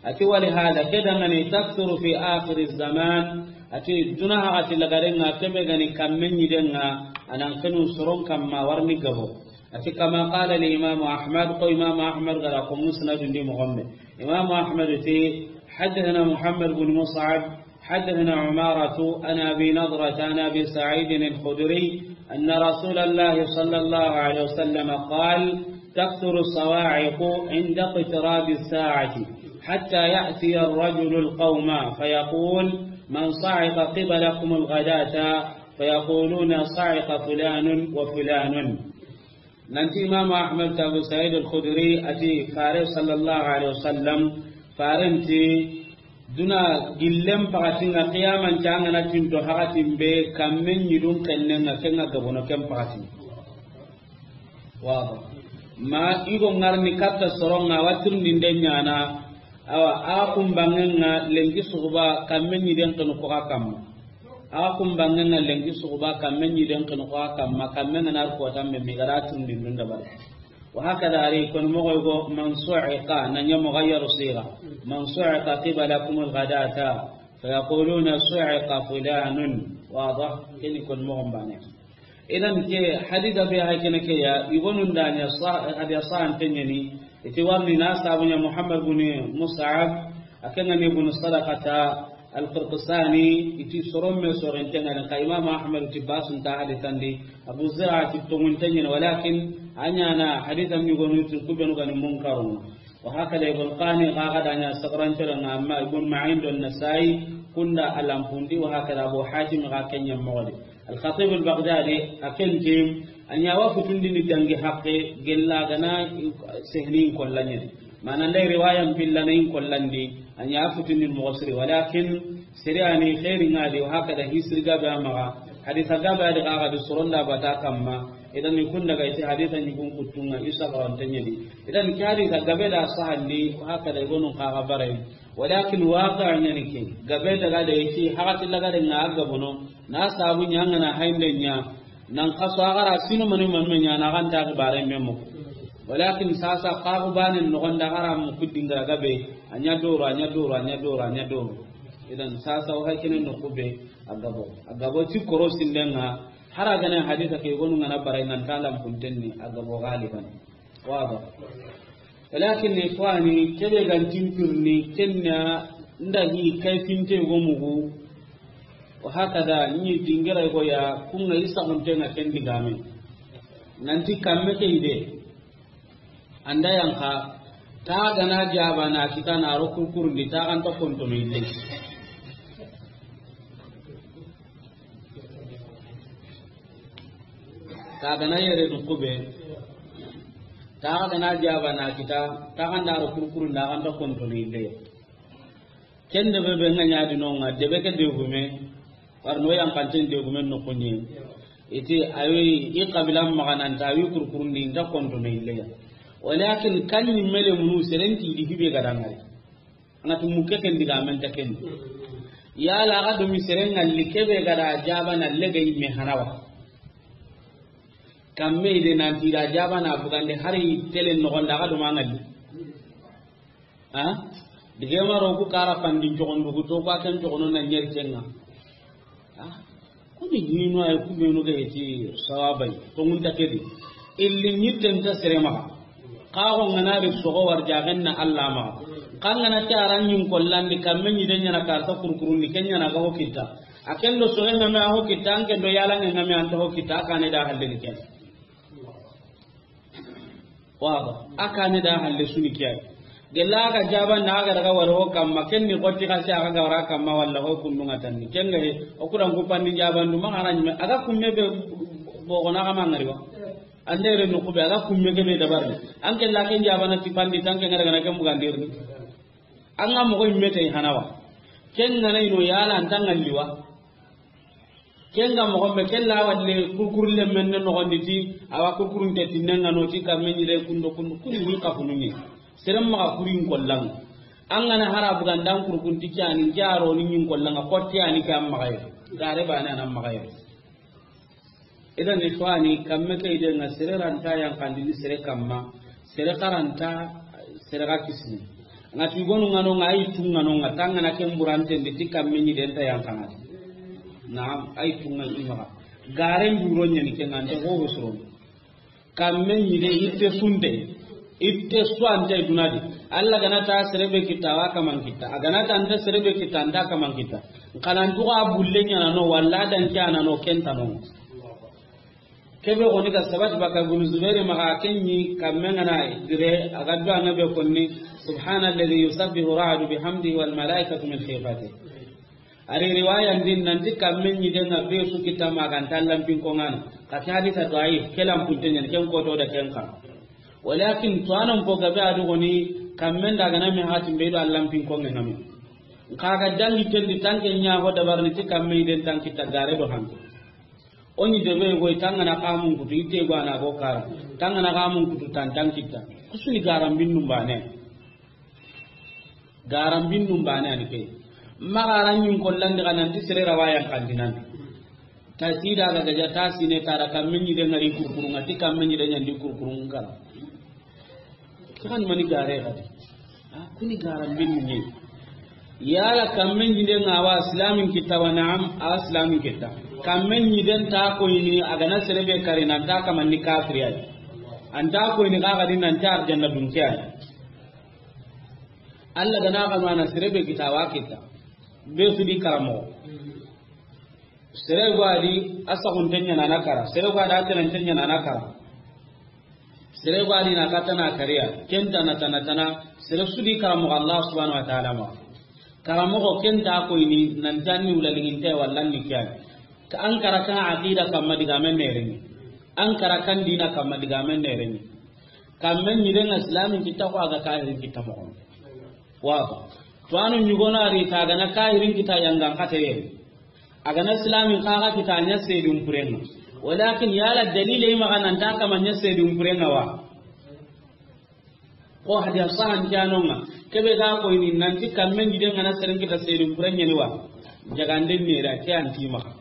Ati: ولهذا, ke dangane, تكثر في آخر الزمان. Ati duna hagati lagarenga, kebe gani kamme ɲidenga, anan kenu soron kamma warni gabo. Ati: كما قال الإمام أحمد, ko Imam Ahmad gara ko musnad ndi moxo be. Imam Ahmad ti: حدثنا محمد بن مصعب، حدثنا عمارة عن أبي نضرة عن أبي سعيد الخدري أن رسول الله صلى الله عليه وسلم قال: تكثر الصواعق عند اقتراب الساعة، حتى يأتي الرجل القوم فيقول: من صعق قبلكم الغداة؟ فيقولون: صعق فلان وفلان. Nanti Imam Ahmad ti Abu Sa'id al-Khudri ati, Fare sallallahu alaihi wasallam, Faren ti, duna gillen pakatinga, qiyaman cangana tinto hakatin be, kammen ɲidun kennenga, kenga gabono ken pakati. Waba. Ma igo ngarni katta soronga, watirni nde ɲana, awa, a kumbangenga, lenki suguba, kammen ɲiden kenu koka kamma. A kumbangenga lenki suguba, kammen ɲiden kenu koka kamma, kammen ganar kotan be, migara tundindun dabari. Wa hakada ari kon mogo go, من صعق, nanya mughayyaru siga. من صعق قبلكم الغداة، فيقولون: صعق فلان. Waba, keni kon mogo bane. Idan ke hadisa be hay kene ke ya, i gonu nda ɲa sa-, hadisa sahante ɲa ni, i ti warni na sabu ɲa Muhammad bin Mus'ab, a ke ŋa ni bin Sadaqata al-Qirqisani, i ti soron me soron te ŋa ni, xa Imam Ahmad ti basun ta hadisan di, Abu Zur'a ti tongun te ɲa ni, walakin a ɲa na hadisa mi gonu ti ku be nu ga ni munkarun. Wa hakada Ibn Qani ga ga da ɲa saqaran tera ŋa, amma Ibn Ma'in do Nasa'i kunda a lampundi, wa hakada Abu Hatim ga ke ɲa moxo di. Al-Khatib al-Baghdadi a ken ti, a ɲa wa futundini dangi haqqe, gella ga na sehni in kolla ɲa ni. Mana nda riwaya n pilla na in kollandi, a ɲa futundini moxo siri, walakin sere a ni xeeri ŋa di, wa hakada hisiri gabe a maxa, hadisa gabe a di ga ga di soron da bata kamma, idan i kunda ga i ti hadisa ɲi gun kuttu ŋa, i saqarante ɲa di. Idan ke hadisa gabe da sahandi, wa hakada i gonu xa ga bare. Walakin waqi'a ɲa ni ke, gabe daga da i ti, hakati laga de ŋa a gabono, na sabu ɲa ŋa na haynde ɲa, nan kaso a ga ra sino mani mani me ɲa na ga nta xibare me mo. Walakin sasa xaxu banen noxon da a ga ra mu ku dingira gabe, a ɲa doro, a ɲa doro, a ɲa doro, a ɲa doro. Idan sasa o hay kene no ku be a gabo. A gabo ti koro sinden ŋa, hara gane hadisa ke gonu ŋa na bare nan ta lampunten ni a gabo galiban. Waba. Walakin ikhwani, kebe gan timpirni, kenna nda hi kayfinte go mugu. Wa hakada, ni dingira go ya, kunga isa hunte na ken digame. Nanti kamme ke ide. Anda yanka, ta gana jaba na kita na ro kurkurundi, ta kan to konto me ille. Ta gana yere du kube, ta gana jaba na kita, ta kan da ro kurkurundi, ta kan to konto me ille. Ken debe be ŋa ɲa di no ŋa, debe ke degume, warno yan kanten degume no kunye. Iti awi i qabila maxa nan ta awi kurkurundi nta konto me ille ya. Walakin kan ni mele munu serenti di hibe ga dangari. Anga tu muke ken digamen ta ken. Yala ga do mi seren ŋalli kebe ga da jaba na lege me hanawa. Kamme ide nan ti da jaba na bugande hari tele no gonda ga do ma ŋalli. Ha? Dige maro ku kara fandi jogondu ku to ku a ken jogono na ɲeri kenga. Ha? Kuni hino ay ku be no ga ti sawabay. To mun ta kedi. Illi nyitten ta sere maxa. Ka go ngana ri sogo war jagen na Allah maxa. Ka ngana ta ran yin kollandi kamme ni den yana karta kurkurundi ken yana ga ho kita. A ken do sogo ngame a ho kita, an ken do yala ngame an to ho kita, a kane da halle ni ken. Waba, a kane da halle suni kiyai. Gella ga jaban da ga daga wala ho kamma, ken ni gotti ka se a ga wara kamma wala ho kundu nga tanni. Ken ga he, o kuran ku pandi jaban du ma haran me, a ga kumme be bo gona ga mangari wa. Ande re no ku be a ga kumme ke be dabar. An ke la ken jabana ti pandi tan ke ngara gana ken bugandir. An ga mo ko imme tay hanawa. Ken ngana ino yala an tan ngalliwa. Ken ga moxo be, ken la walle kurkurulle men ne noxondi ti, awa kurkurunte tinne nga no ti kamme ɲi de kundo kundu, kundi ni kafunu ni. Seren maxa kurin kollan. An gana hara bugandan kurkunti ke ani, ke a ro ni ɲin kollan, a xotti ani ke an maxa ye. Gare bane an maxa ye. Idan ikhwani, kamme ke ide nga sere ranta yan kandini sere kamma. Sere karanta, sere ga kisini. Nga ti gonu nga no nga, ayi tu nga no nga, tanga na ken buranten de ti kamme ɲi den ta yan kana. Naam, ayi tu nga i maxa. Garen duro ɲani ke nga nte ho ho soro. Kamme ɲi de itte sunte. Itte suante dunadi. Allah gana ta sere be kita wa kaman kita. A gana ta nta sere be kita, nta kaman kita. Kanan tuga bulle ɲana no, walla dan kiana no, kenta no. Kebe goni ga sabati baka Ibn Zubair maxa, ken ɲi kamme ngana dire, a ga duwa nga be konni, "Subhana alladhi yusabbihu ra'du bihamdihi wal malaikatu min khifatihi." Ari riwaya ndin nanti kamme ɲi de nga be su kita ma ga nta lampin ko ngana. Ka ta hadisa da'if, ke lampunte ɲan, ken ko to da ken ka. Walakin to anan ko gabe adu goni, kamme nda gana me hatin be do lampin ko ngana me. Ka ga dangi kendi tanke ɲa ho dabarni ti kamme den tanki ta gare do hanke. O ɲi debe goy tangana kamun kutu, ite gwana go kara. Tangana kamun kutu tan tan kita. Kusuni garan binnum bane. Garan binnum bane ani ke. Magaran ɲin kollandi kanan ti sere rawayan kandinan. Ta sida ga gaja ta sine tara kamme ɲi de ngari kurkurunga ti kamme ɲi de ɲandi kurkurunga. Kan mani gare gadi. Ah, kuni garan binni. Yala kamme ɲi de nga wa islamin kita wa na'am, a islamin kita. Kamme ɲiden ta koyini, a ga na sere be kari, nan ta kamanni kafiri ya yi. An ta koyini xa ga di nan ta arjanna dunke ya yi. Alla ga na xa mana sere be kita wa kita. Be su di karamoxo. Sere go a di a saxunte ɲa na na kara. Sere go a di a tenante ɲa na na kara. Sere go a di na ka tana kariya, ken tana, tana, tana, sere su di karamoxo Allah subhanahu wa ta'ala ma. Karamoxo ken ta koyini, nan ta ni wula liginte walla ni ke ya ni. Ka an kara kan aqida kamma digamen ne reni. An kara kan dina kamma digamen ne reni. Kamme ɲiden ŋa islamin kita ko a ga kahirin kita moxo. Wato. To anu ɲugono a ri ta ga na kahirin kita yangan kate yeri. A ga na islamin xa ga kita ɲa sedun purenga. Walakin yala dalile i maxa nan ta kama ɲa sedun purenga wa. Ko hadiya sahan ke ya no ŋa. Kebe ga koyini nanti kamme ɲiden ŋa na seren kita sedun purenga ni wa. Jaganden ne ra ke an ti maxa.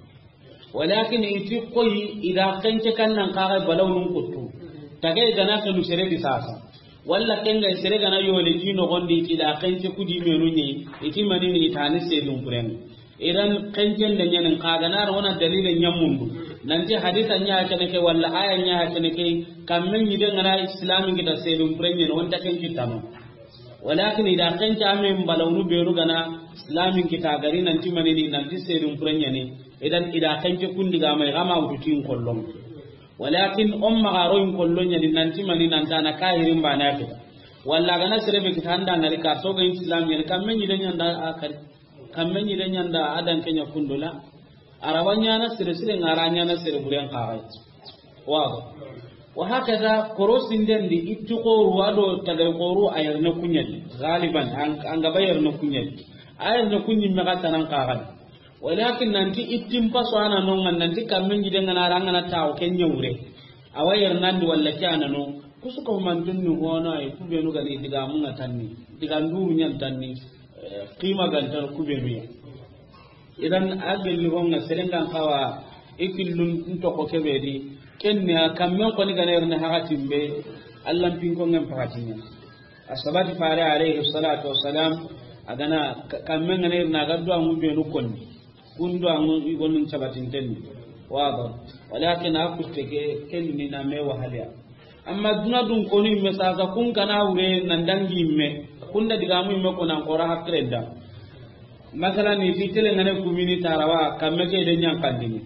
Walakin i ti koyi i da xence kan nan xa ga balawnun kuttu. Tage ga na xenu sere di sasa. Walla ken ga sere ga na yole ti noxon di i ti da xence ku di menu ɲi, i ti manini i ta ni sedun purenga. Idan xencen da ɲanin xa ga na ra wona dalile ɲamundu. Nanti hadisa ɲa kene ke walla aya ɲa kene ke, kamme ɲiden ŋa na islamin kita sedun purenga ni, wonta ken kitano. Walakin i da xence a men balawnu benu ga na islamin kita gari nanti manini nanti sedun purenga ni. Idan i da xence kundi ga mai ga ma wutu tin kollon. Walakin on maxa ro in kollon ɲa ni nanti mani nan ta na kahirin bana kita. Walla ga na sere be kita anda ngari ka to ga islam ɲa ni kamme ɲiden ɲa nda a kari. Kamme ɲiden ɲa nda a dan ke ɲa kundula. Arawa ɲa na sere sere ŋa ra ɲa na sere buren xa ga. Wado. Wa hakaza korosin den di itti xoru wado tagay xoru a yerna kuɲa di. Galiban an, an ga ba yerna kuɲa di. A yerna kuɲi me ga tanan xa ga. Walakin nanti ittin paso a na no ŋa nanti kamme ɲiden ŋa na ra ŋa na tawo ke ɲa wure. Awa yerna ndi walla ke a na no. Kusu ko mantun ni hono ay ku benu ga ni digamun ŋa tanni. Digan duru ɲan tanni. Eh, qima gan tan ku benu ya. Idan a gelli ho ŋa seren gan xawa i killun ntoko kebe di. Ken ni a kammen xoni ga na yerna hakatin be. Allan pin ko ŋen hakatin ɲa. A sabati fare alayhi salatu wassalam, a ga na ka-, kamme ŋa na yerna ga duwa ŋu benu konni. Kun duwa ŋu i gonun sabatinten ni. Wado. Walakin a kutte ke, ken ni na me wahaliya. Amma duna dun konu imme sasa kun kana wure nan dangi imme. Kun da digamu imme ko nan xora hakkilenda. Masalan, i ti tele ŋa ne kumini tarawa, kamme ke de ɲankandini.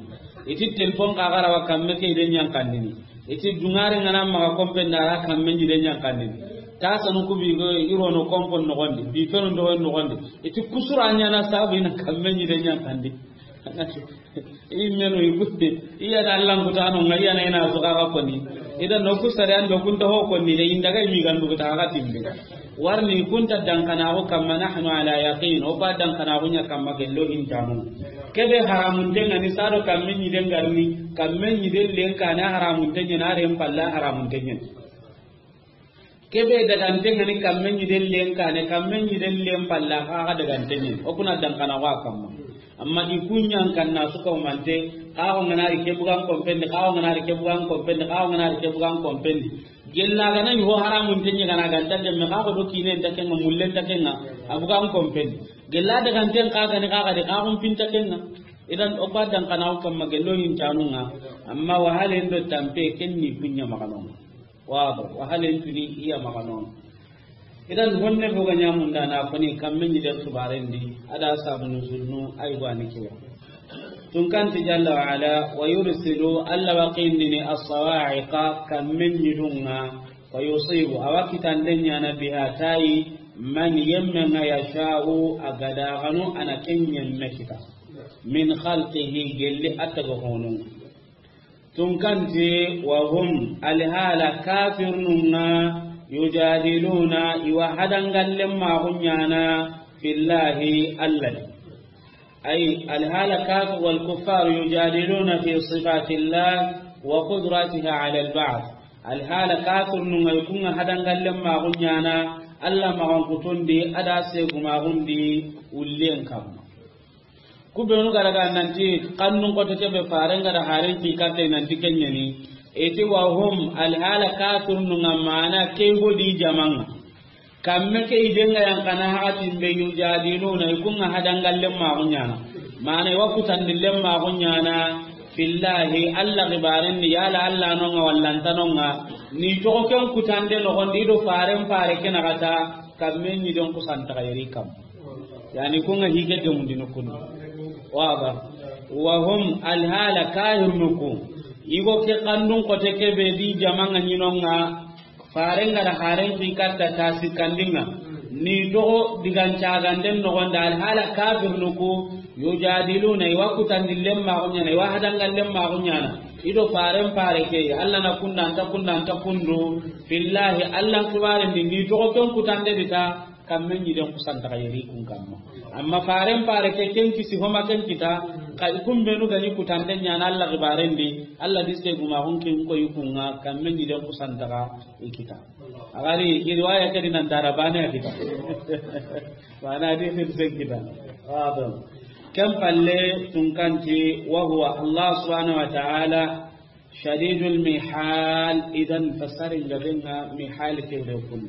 I ti telefon xa ga ra wa, kamme ke de ɲankandini. I ti dungare ŋa na maxa kompen da ra kamme ɲi de ɲankandini. Ta sanu ku bi go i ro no kompon noxon di, bi fenu noxon di. I ti kusura ɲa na sabu i na kamme ɲi de ɲankandi. I menu i kutte, i ya da Allan kutano ŋa, i ya na i na su xa ga koni. Idan no ku sare an do kun ta ho koni de, inda ga i mi gandu kuta ga timbe. Warni kun ta dankanaxu kamma, nahnu ala yaqin, o ba dankanaxu ɲa kamma gello hintanu. Kebe haramunten ŋa ni sado kamme ɲiden garni, kamme ɲiden len kane haramunten ɲa na ren palla haramunten ɲa. Kebe daganten ŋa ni kamme ɲiden len kane, kamme ɲiden len palla xa xa daganten ɲa. O kuna dankanaxu a kamma. Amma i kun ɲa n kanna su kawmante, xa xo ŋa na ri ke bugan kompendi, xa xo ŋa na ri ke bugan kompendi, xa xo ŋa na ri ke bugan kompendi. Gella ga na ɲi ho haramunten ɲa ga na ganta demme, xa xo do kinen ta ken ŋa, mullen ta ken ŋa, a bugan kompendi. Gella daganten xa ga ni xa ga di, xa xo n pin ta ken ŋa. Idan o ba dankanaxu kamma gello hintanu ŋa, amma wahalen do tampe ken ni kun ɲa maxa no ŋa. Wado, wahalen tuni i ya maxa no ŋa. Idan honne fo ga ɲamunda na koni kamme ɲi den xibaren di, a da sabu nuzulnu ay go a ni ke ya. Tun kanti jalla wa ala, wa yursilu, Alla wa qindini as-sawa'iqa, kamme ɲidun ŋa, wa yusibu, a wa kitanden ɲana biha tayi, man yemme ŋa yasha'u, a ga da xanu a na ken yemme kita. Min khalqihi, gelli a taga honun ŋa. Tun kanti, wa hum, alhala kafirnun ŋa, yujadiluna, i wa hadangallen maxu ɲana, fillahi, Alla di. Ay, alhala kafir wal kuffar yujadiluna fi sifatillah wa qudratiha ala al-ba'th. Alhala kafirnun ŋa i kun ŋa hadangallen maxu ɲana, Alla maxan kutundi, a da segu maxundi, ullen kamma. Ku benu ga daga nanti kannun xoto kebe faren ga da haren ki katte nanti ken ɲa ni. I ti wa hum, alhala kafirnun ŋa mana ke go di jaman ŋa. Kamme ke i denga yan kana hakatin be yujadiluna, i kunga hadangallen maxu ɲana. Mana i wa kutandillen maxu ɲana. Fillahi, Alla xibaren di, yala Alla nonga walla nta nonga. Ni toxo ken kutande noxondi i do faren fare ke naxata, kamme ɲi den kusantaxa yeri kam. Yani kunga hige gemundini kundu. Waba. Wa hum, alhala kahirnuku. Igo ke kandun kote ke be di jamanga ɲinonga. Faren ga da haren fi katta ta sikkandinga. Ni toxo digan caganden noxonda alhala kafirnuku. Yujadiluna, i wa kutandillen maxu ɲana, i wa hadangallen maxu ɲana. I do faren fare ke, Alla na kunda, nta kunda, nta kundu. Fillahi, Alla xibaren di, ni toxo ken kutande di ta, kamme ɲi den kusantaxa yeri kun kamma. Amma faren fare ke ken kisi homa ken kita, ka i kumbenu ga ɲi kutande ɲana Alla xibaren di, Alla di se guma hon kin ko i kunga, kamme ɲi den kusantaxa i kita. Agari, i riwaya ke di nan dara bane a kita. Bana di hirsen kita. Wado. Ken palle tunkanti, wa huwa Allah subhanahu wa ta'ala shadidul mihal, idan fasarin gabenga mihal ke de kun.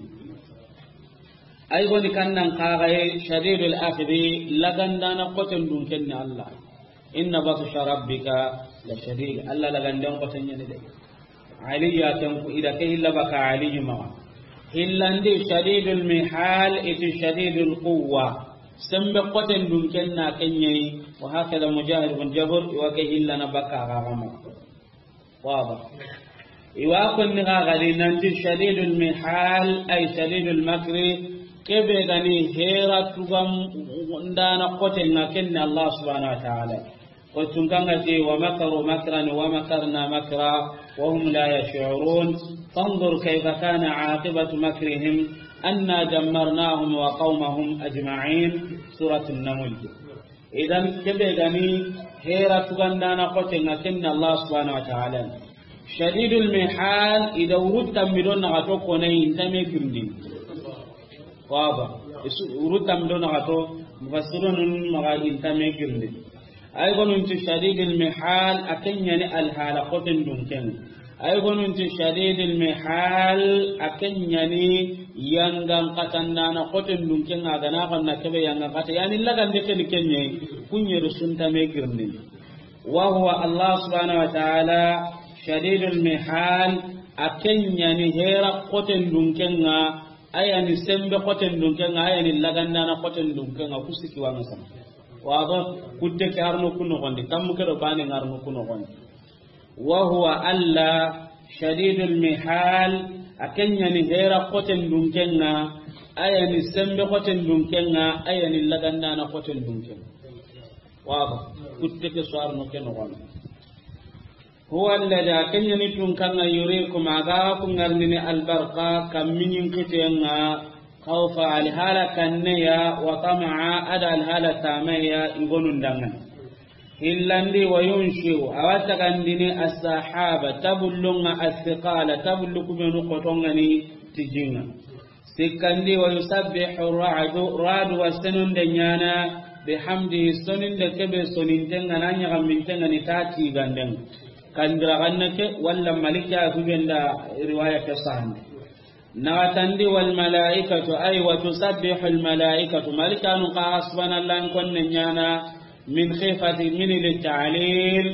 Ay goni kannan kagaye shadidul akhdi, lagandana koten dun kenni Allah. Inna batsha rabbika la shadid. Allah lagandan koten ɲani de. Aliya tanku ida ke hilla baka Aliyu maga. Hillandi shadidul mihal, iti shadidul quwwa. Sembe koten dun kenna kenyai, wa hakada Mujahid bin Jabr, wa ke hillana baka gagama. Waba. Iwa konni ga gadi nanti shadidul mihal, ay shadidul makri, kebe gani hera tugam ndana kote nga kenne Allah subhanahu wa ta'ala. Ko tunkangati, wa makaru makran wa makarna makra wa hum la yash'urun. Fanzur kayfa kana aqibatu makrihim anna dammarnahum wa qawmahum ajma'in. Suratun Naml. Idan kebe gani hera tugandana kote nga kenne Allah subhanahu wa ta'ala. Shadidul mihal, ida wurutta mido na gato kone intame girndi. Waba. Isu wurutta mido na gato mufassirun maga intame girndi. Ay gonunti shadidul mihal, akenyani alhala koten dunken. Ay gonunti shadidul mihal, akenyani yangan katandana koten dunken, agana kanna kebe yangan kata. Yani lagande ken kenye, kunye rusunta me girni. Wa huwa Allah subhanahu wa ta'ala shadidul mihal, akenyani hera koten dunken nga, ayani sembe koten dunken nga, ayani lagandana koten dunken nga, kusiki wa ngasam. Waba, kutte ke arno kuno gondi, tammu ke do bane ngarno kuno gondi. Wa huwa Alla shadidul mihal, akenyani hera koten dunken nga, ayani sembe koten dunken nga, ayani lagandana koten dunken. Waba, kutte ke so arno ke no gondi. Huwa alladhi, akenyani tunkanga yurikum, aga kungarnini albarqa, kamminyin kitenga, khawfa, alhala kanneya, wa tama'a, ada alhala tameya, igonun dangan. Hillandi wa yunshi'u, awa tagandini as-sahaba, tabullunga as-siqala, tabullu kubenu kotongani tijinga. Sikkandi wa yusabbihu ra'du, ra'du wa senunde nyana, bihamdihi, soninde kebe sonintenga na nyaga mintenga ni tati gandeng. Kandira ganna ke, walla malika kubenda riwaya ke sahande. Nagatandi wal malaikatu, ay wa tusabbihu al malaikatu, malikanu ka subhanallah konne nyana, min khifati, min li ta'lil,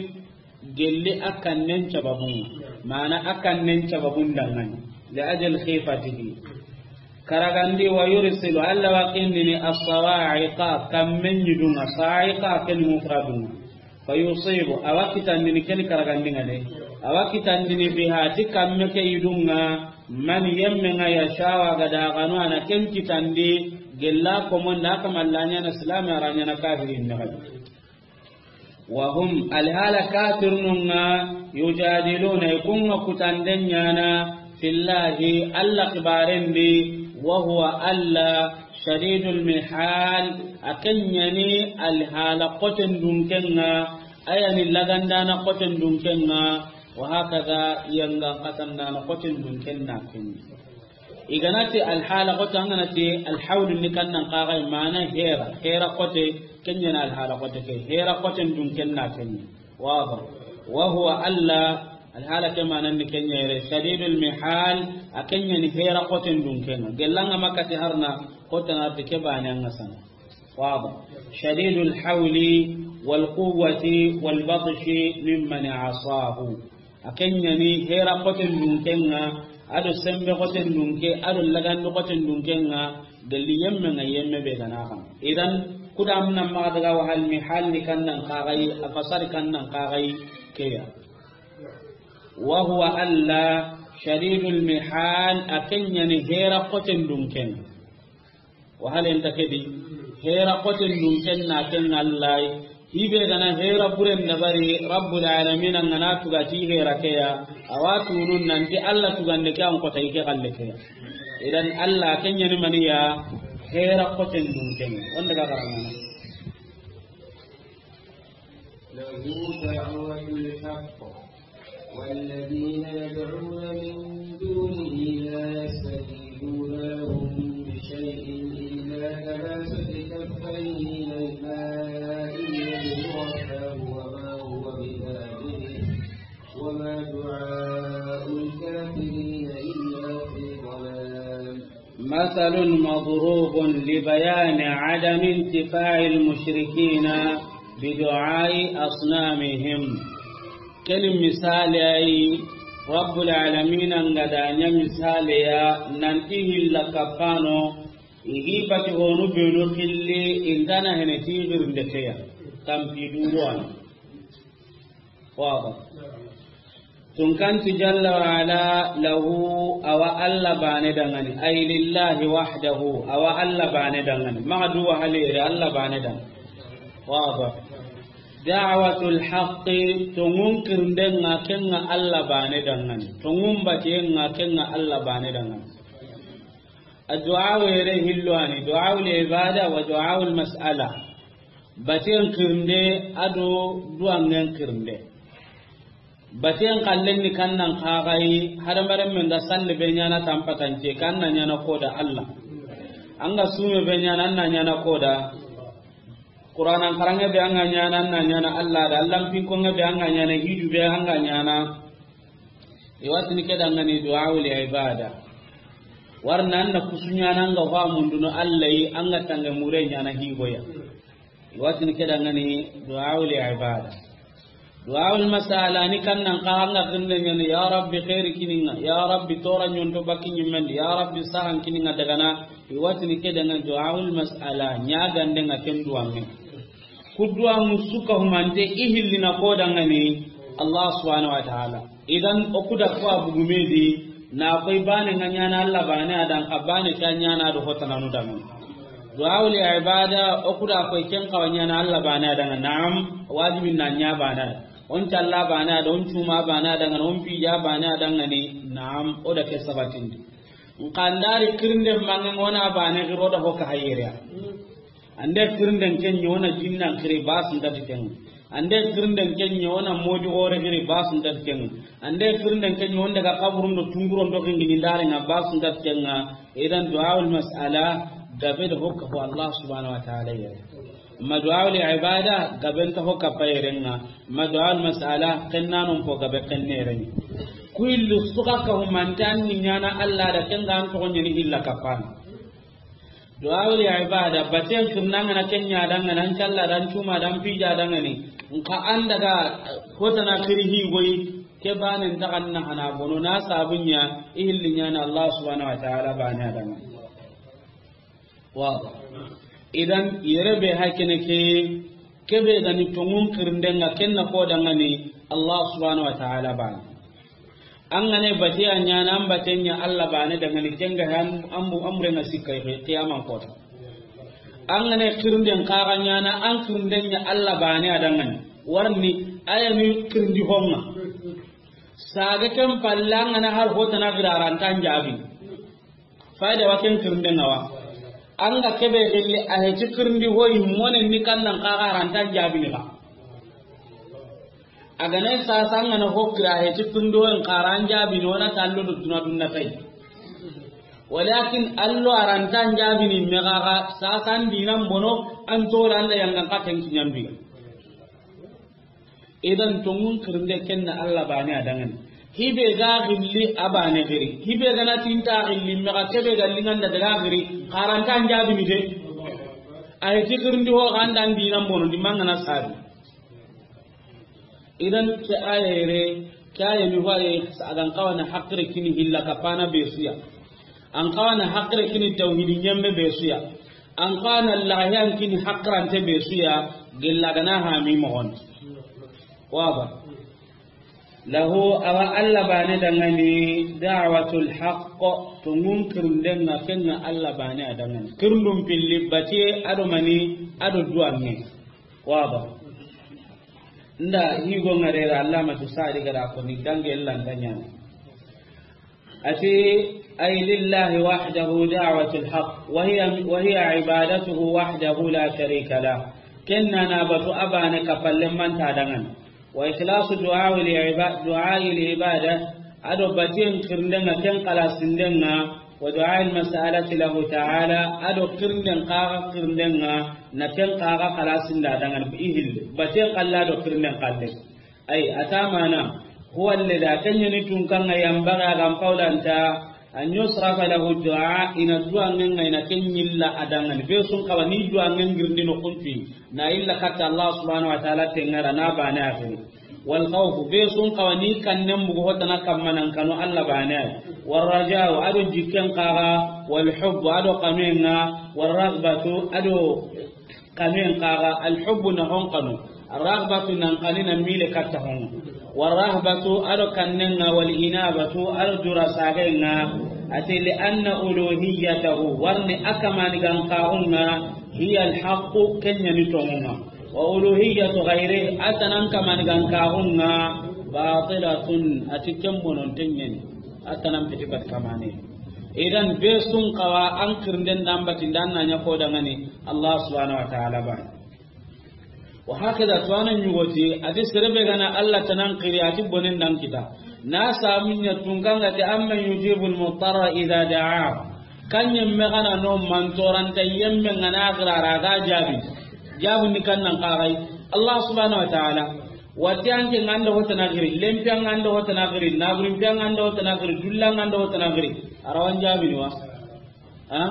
gelli akannen cababun, mana akannen cababun dangani, li ajal khifatihi. Karagandi wa yursilu, Alla wa kindini as-sawa'iqa, kammen yidunga, sa'iqa ken mufradunga. Fa yusibu, awa kitandini ken karagandinga de. Awa kitandini biha, ti kamme ke yidunga, man yemme nga yasha'u gada ganu ana ken kitandi, gella komonda kamallanya na silama ranya na kafirin na gadi. Wa hum, alhala kafirnunga, yujadiluna, ikunga kutanden nyana, fillahi, Alla kibarendi, wa huwa Alla, shadidul mihal, akenyani alhala koten dunkenga, ayani lagandana koten dunkenga, wa hakada yanga katandana koten dunkenna kenni. Iganati alhala kote, anganati alhawlu ni kannan kaga mana hera, hera kote, kenyana alhala kote ke, hera koten dunkenna kenni. Waba. Wa huwa Alla Alhala ke manan ni ken ɲa yere, shadidul mihal, a ken ɲa ni hera xoten dunken ŋa. Gellanga makati harna, xotana ti ke bane an ŋa sana. Waba. Shadidul hawli wal quwwati wal batshi mimman asahu. A ken ɲa ni hera xoten dunken ŋa, ado sembe xoten dunke, ado lagandi xoten dunken ŋa, gelli yemme ŋa yemme be gana kan. Idan, kuda amna maxa daga wahal mihal ni kannan kaxayi, a fasari kannan kaxayi keya. Wa huwa alla shadidul mihal, a ken ɲa ni hera xoten dunken. Wahal enta kedi, hera xoten dunken na ken ŋa Alla yi. Hibe gana hera buren dabari, Rabbul alamin an gana tuga ti hera keya, awa tunun nanti Alla tugande ke an kota ike xalle keya. Idan Alla ken ɲa ni maniya, hera xoten dunken. Wanda ga garangana. له دعوة الحق والذين يدعون من دونه لا يستجيبون لهم بشيء إلا كباسط كفيه إلى الماء ليبلغ فاه وما هو ببالغه وما دعاء الكافرين إلا في ضلال. مثل مضروب لبيان عدم انتفاع المشركين بدعاء أصنامهم. Ken misali ay, Rabbul alamin an ga da ɲa misali ya, nanti hilla kapano, igi bati honu benu xilli, intana hene ti girnde keya, tampi duwan. Waba. Tunkanti jalla wa ala, lahu, awa Alla bane dangani, ay lillahi wahdahu, awa Alla bane dangani. Maxa duwa halire, Alla bane dangani. Waba. Da'watul haqqi, tongun kirndenga kenga Alla bane dangani. Tongun batiyenga kenga Alla bane dangani. Addu'a were hillo ani, du'a ul ibada wa du'a ul mas'ala. Baten kirnde, ado duwangen kirnde. Baten kallen ni kannan kaxayi, hadamaren men ga salle be ɲana tampatance, kanna ɲana koda Alla. An ga sume be ɲana, an na ɲana koda. Qur'anan karange be an ga ɲana, an na ɲana Alla da. Allan pinkonge be an ga ɲana, hiju be an ga ɲana. Iwatini ke dangani du'a ul ibada. Warna an na kusu ɲana an ga fa munduno Alla yi, an ga tange mure ɲana higoya. Iwatini ke dangani du'a ul ibada. Du'a ul mas'ala ni kannan ka an ga kirnde ɲani, ya Rabbi khairi kininga, ya Rabbi tora ɲonto bakki ɲimmendi, ya Rabbi sahan kininga dagana. Iwatini ke dangani du'a ul mas'ala, ɲagandenga ken duwange. Ku duwa musuka humante i hillina ko dangani Allah subhanahu wa ta'ala. Idan o kuda ko a bugumedi, na koy bane nga ɲana Allah bane adan, ka bane ka ɲana do hotananu dangani. Du'a ul ibada, o kuda koy ken kawa ɲana Allah bane adan, na'am, wajibin na ɲa bane adan. On talla bane adan, on cuma bane adan, on pija bane adan ni, na'am, o da ke sabatindi. Nkandari kirinde mange ngona bane giro da hoka hayere. Ande kirinden ken ɲa wona jinnan kiri basun tati ken. Ande kirinden ken ɲa wona moju gore kiri basun tati ken. Ande kirinden ken ɲa wonde ga kaburun do tunguron do kingini ndare nga basun tati ken nga. Idan du'a ul mas'ala gabe da hokka ko Allah subhanahu wa ta'ala yere. Ma du'a ul ibada gabe nta hokka payere nga. Ma du'a ul mas'ala kennanon po gabe kennere ni. Kuillu suka ka humantan ni ɲana Allah da ken ga an to ɲani illa kapana. Du'a ul ibada, baten kirnanga na kenya dangana, an calla dan cuma dan pija dangani. Nka an daga hotana kiri hi goyi, ke banen ta kanna hana bono na sabunya, i hilli ɲana Allah subhanahu wa ta'ala bane adangani. Wa. Idan, yere be hakene ke, kebe gani tongun kirndenga kenna ko dangani, Allah subhanahu wa ta'ala bane. An gane batiya ɲana, an baten ɲa Allah bane dangani, kenga han ambu amrenga sikka i kiyaman kota. An gane kirnden kaga ɲana, an kirnden ɲa Allah bane adangani. Warni aya ni kirndi honga. Saga ken palle an gana har hotana gira arantan jabi. Fayda wa ken kirnden nga wa. An ga kebe gilli a heti kirndi hoyi monen ni kannan kaga arantan jabi ni ba. A ga na sasa an gana hokkira he ti tundo en karan jabi no na tallo do duna dunna tay. Walakin allo arantan jabi ni megaga sasa an dinan bono an tora Allah yangan katen kinyambi. Idan tonŋun xirinde ken na Alla baane a danŋa ni. Hi be ga xilli a baane xiri. Hi be ga na ti n ta xilli me ga ke be ga liŋa n da daga xiri. Xaranta n jaabini de. A yi ti xirindi ho xa n da n diina n bono di mangana sabi. Idan ke aaya yere, ke aaya ni ho aaya, a ga n xawa na haqqe kini hilla kappana be su ya. An xawa na haqqe kini tawhidi ɲemme be su ya. An xawa na lahiyan kini haqqirante be su ya, gella ga na hami moxon. Waba. Lahu, awa Alla baane danŋa ni, da'watul haqq, tonŋun xirinden ŋa ken ŋa Alla baane a danŋa ni. Xirindun pilli, batiye, a do mani, a do duwanŋe. Waba. Nda higo ŋarera Allamatu Sa'di ga da ko ni dange lanta ɲaana. A ti, ay lillahi wahdahu da'watul haqq, wa hiya, wa hiya ibadatuhu wahdahu la sharika lah. Ken na na batu a baane kapalle manta danŋa ni. Wa ikhlasu du'a li iba-, du'a li ibada, a do batiyen xirinden ŋa ken xalasinden ŋa, wa du'a al mas'alati lahu ta'ala, a do xirinden xaxa xirinden ŋa, na ken xaxa xalasinda danŋa ni i hille. Batiyen xalle a do xirinden xalle. Ay, a ta mana, huwa alladhi, a ken ɲa ni tunkan ŋa yanbaghi a ga n pawlanta, an yusrafa lahu du'a, i na duwanŋen ŋa, i na ken ɲilla a danŋa ni. Be su n xawa ni duwanŋen girindi no kuntu, na illa katta Allah subhanahu wa ta'ala tenŋa ra na baane a xiri. Wal khawfu, be su n xawa ni kannen bugu hotana kamma nan kanu Alla baane a. Wal raja'u, a do jikken xaxa, wal hubbu, a do xanuyen ŋa, wal raghbatu, a do xanuyen xaxa, al hubbu na hon xanu, ar raghbatu nan xani na mile katta hon. Wal rahbatu, a do kannen ŋa, wal inabatu, a do dura sagen ŋa. A ti, li anna uluhiyatahu, warni a kamani gan xaxun ŋa, hiya al haqqu, ken ɲa ni tonŋun ŋa. Wa uluhiyatu ghayrihi, a tanan kamani gan xaxun ŋa, batilatun, a ti ken bononten ɲa ni. A tanan piti bat kamane. Idan be su n xawa an xirinden da n bati n da n na ɲa ko danŋa ni Allah subhanahu wa ta'ala baane. Wa hakada, to a na ɲugoti, a ti sere be ga na Alla tanan xiri, a ti bonen da n kita. Na samu ɲa tunkan ŋa ti, amman yujibul muttarra idha da'a. Kan ɲemme ga na no mantoranta yemme ŋa na xira ra ga jaabi. Jaabu ni kan nan xaxay. Allah subhanahu wa ta'ala. Wati anke ŋa n da hotana xiri, lempi an ŋa n da hotana xiri, naburin pi an ŋa n da hotana xiri, dulla ŋa n da hotana xiri. A ra wa n jaabini wa? Ha?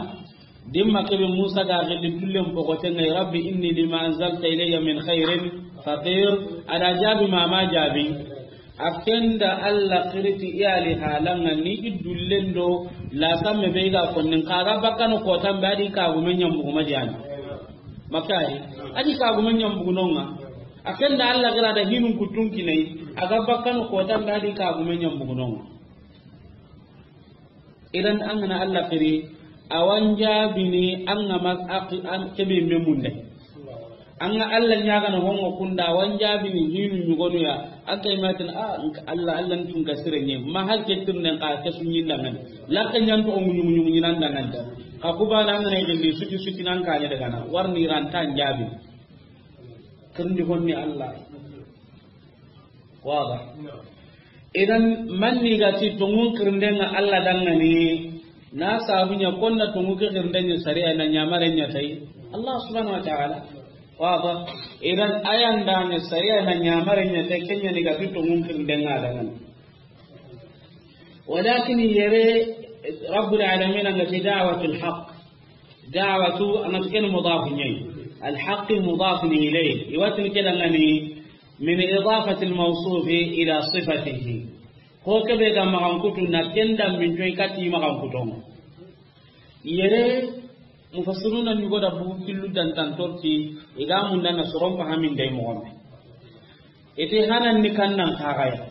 Dimma kebe Musa ga xilli dullen pogoten ŋa, rabbi inni lima anzalta ilayya min khairin faqir. A da jaabi ma ma jaabi. A ken da Alla xiri ti i ali halan ŋa ni i dullen do la samme be ga konnin xa ga bakkano kotan be a di kagume ɲambugu ma di yani. Makka yi. A di kagume ɲambugu no ŋa. A ken da Alla xira da hinun kuttun kinai. A ga bakkano kotan be a di kagume ɲambugu no ŋa. Idan an ga na Alla xiri, a wa n jaabini an ga ma a-, an kebe me munde. An ga Alla ɲaagana hongo kunda, a wa n jaabini hinu ɲugonu ya. An kay matin, a, Alla, Alla n tun ga sire ɲe. Ma hal ke tirnden xa ke su ɲin danŋa ni. Lakke ɲanto o ŋuɲu ŋuɲu ɲinan danŋa ni. Xa kubana an ga na yigindi suti suti nan kane daga na. Warni ranta n jaabi. Kirindi honni Alla. Waba. Idan manni ga ti tonŋun xirinden ŋa Alla danŋa ni, na sabu ɲa konna tonŋu ke xirinden ɲa sariya na ɲamaren ɲa tay Allah subhanahu wa ta'ala. Waba. Idan ayan da ɲa sariya na ɲamaren ɲa tay ken ɲa ni ga ti tonŋun xirinden ŋa danŋa ni. Walakin yere Rabbul alamin an ga ti da'watul haqq. Da'watu, an ga ti ken mudaf ɲa yi. Al haqqi mudaf ilayhi. I wa ti ke danŋa ni min idafati al mawsufi ila sifatihi. Ho kebe ga maxankutu na ken da min toy kati maxankuton. Yere mufassiruna ni goda bugu killu dantan torti, i ga munda na soron fahamin day moxon. Ite hanan ni kannan xaxaya.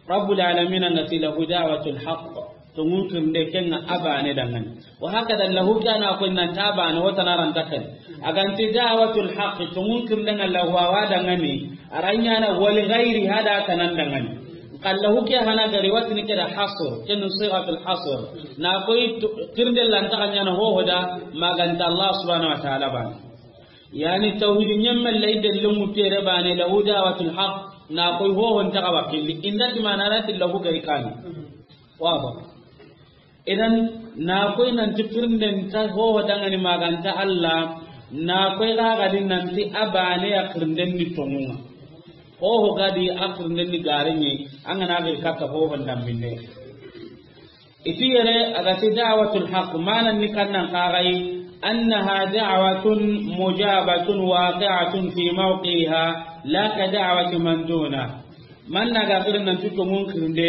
Rabbul alamin an ga ti lahu da'watul haqq. Tonŋun xirinde ken ŋa a baane danŋa ni. Wa hakada lahu kana ko nan ta baane wata na ranta ken. A ga n ti da'watul haqq, tonŋun xirinde ŋa lahu a wa danŋa ni. A ra ɲaana wa li ghayri hada kanan danŋa ni. Xa lahu ke hana gari wa ti ni ke da hasr, ken sighatul hasr. Na koy to-, xirinde lanta xa ɲaana ho ho da ma ga n ta Allah subhanahu wa ta'ala baane. Yani tawhidi ɲemme lay de lumu tere baane lahu da'watul haqq, na koy ho ho nta xa wakili. Inda ti mana ra ti lahu gari kan. Waba. Idan na koy nan ti xirinden ta ho ho danŋa ni ma ga n ta Allah, na koy ga ga din nan ti a baane ya xirinden ni tonŋun ŋa. Hoho ga di a xirnden ni gare ɲi, an ga na xiri katta hohon dambinne. I ti yere a ga ti da'watul haqq, manan ni kannan xaxayi, annaha da'watun mujabatun waqi'atun fi mawqi'iha, la ka da'wati man duna. Man na ga xirin nan ti tonŋun xirinde,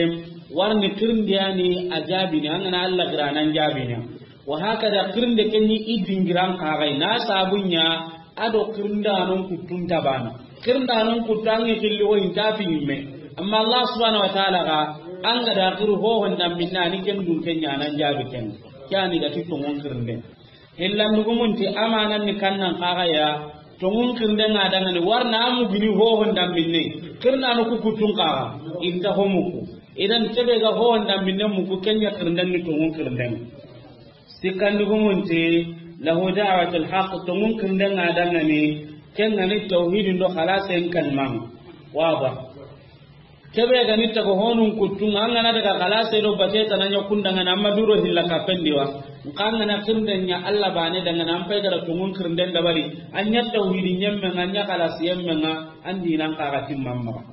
warni xirindeyani a jaabini, an ga na Alla xira nan jaabini. Wa hakada xirinde ke ɲi i dingiran xaxayi, na sabu ɲa a do xirindanon kuttun ta bana. Xirindanon kuttu an ŋi xilli wo inta fi ɲimme. Amma Allah subhanahu wa ta'ala ga, an ga da xiri hohon dambinne ni ken dun ke ɲa nan jaabi ken. Ke yani ga ti tonŋun xirinde. Hillandugumun ti amanan ni kannan xaxaya, tonŋun xirinden ŋa dangani, warna a mugini hohon dambinne, xirindano ku kuttun xaxa, inta ho muku. Idan kebe ga hohon dambinne muku, ken ɲa xirinden ni tonŋun xirinden. Sikkandugumun ti, lahu da'watul haqq, tonŋun xirinden ŋa dangani, ken ga ni tawhidin do xalasen kalman. Waba. Kebe ga ni taga honun kuttun ŋa, an ga na daga xalase do bate tana ɲa kun dangana, amma duro hilla kapendi wa. Nxa an ga na xirinden ɲa Alla bane dangana, an pay ga da tonŋun xirinden dabari, an ɲa tawhidi ɲemmen ŋa, an ɲa xalasi yemmen ŋa, an dinan xaxa timman maxa.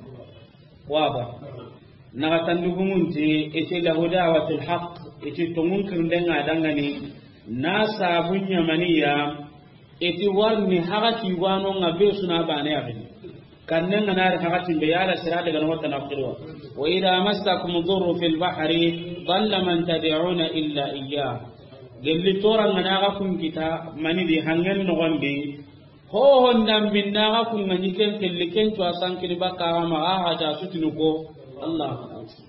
Waba. Naxatandugumun ti, i ti lahu da'watul haqq, i ti tonŋun xirinden ŋa dangani, na sabu ɲa maniya, i ti warni haxa ti wano ŋa be su na bane a gini. Kannen ŋa na ri haxa timbe yala sira daga no tana xirwa. Wa idha massakum dhurru fil bahri dhalla man tad'una illa iyyah. Gelli toran ŋa na ga kun kita mani di hangen no gondi. Hohon dambinne ga kun ŋa ɲi ken kelli ken cuwa sankini bakka ga ma ga haja sutinu ko Allah.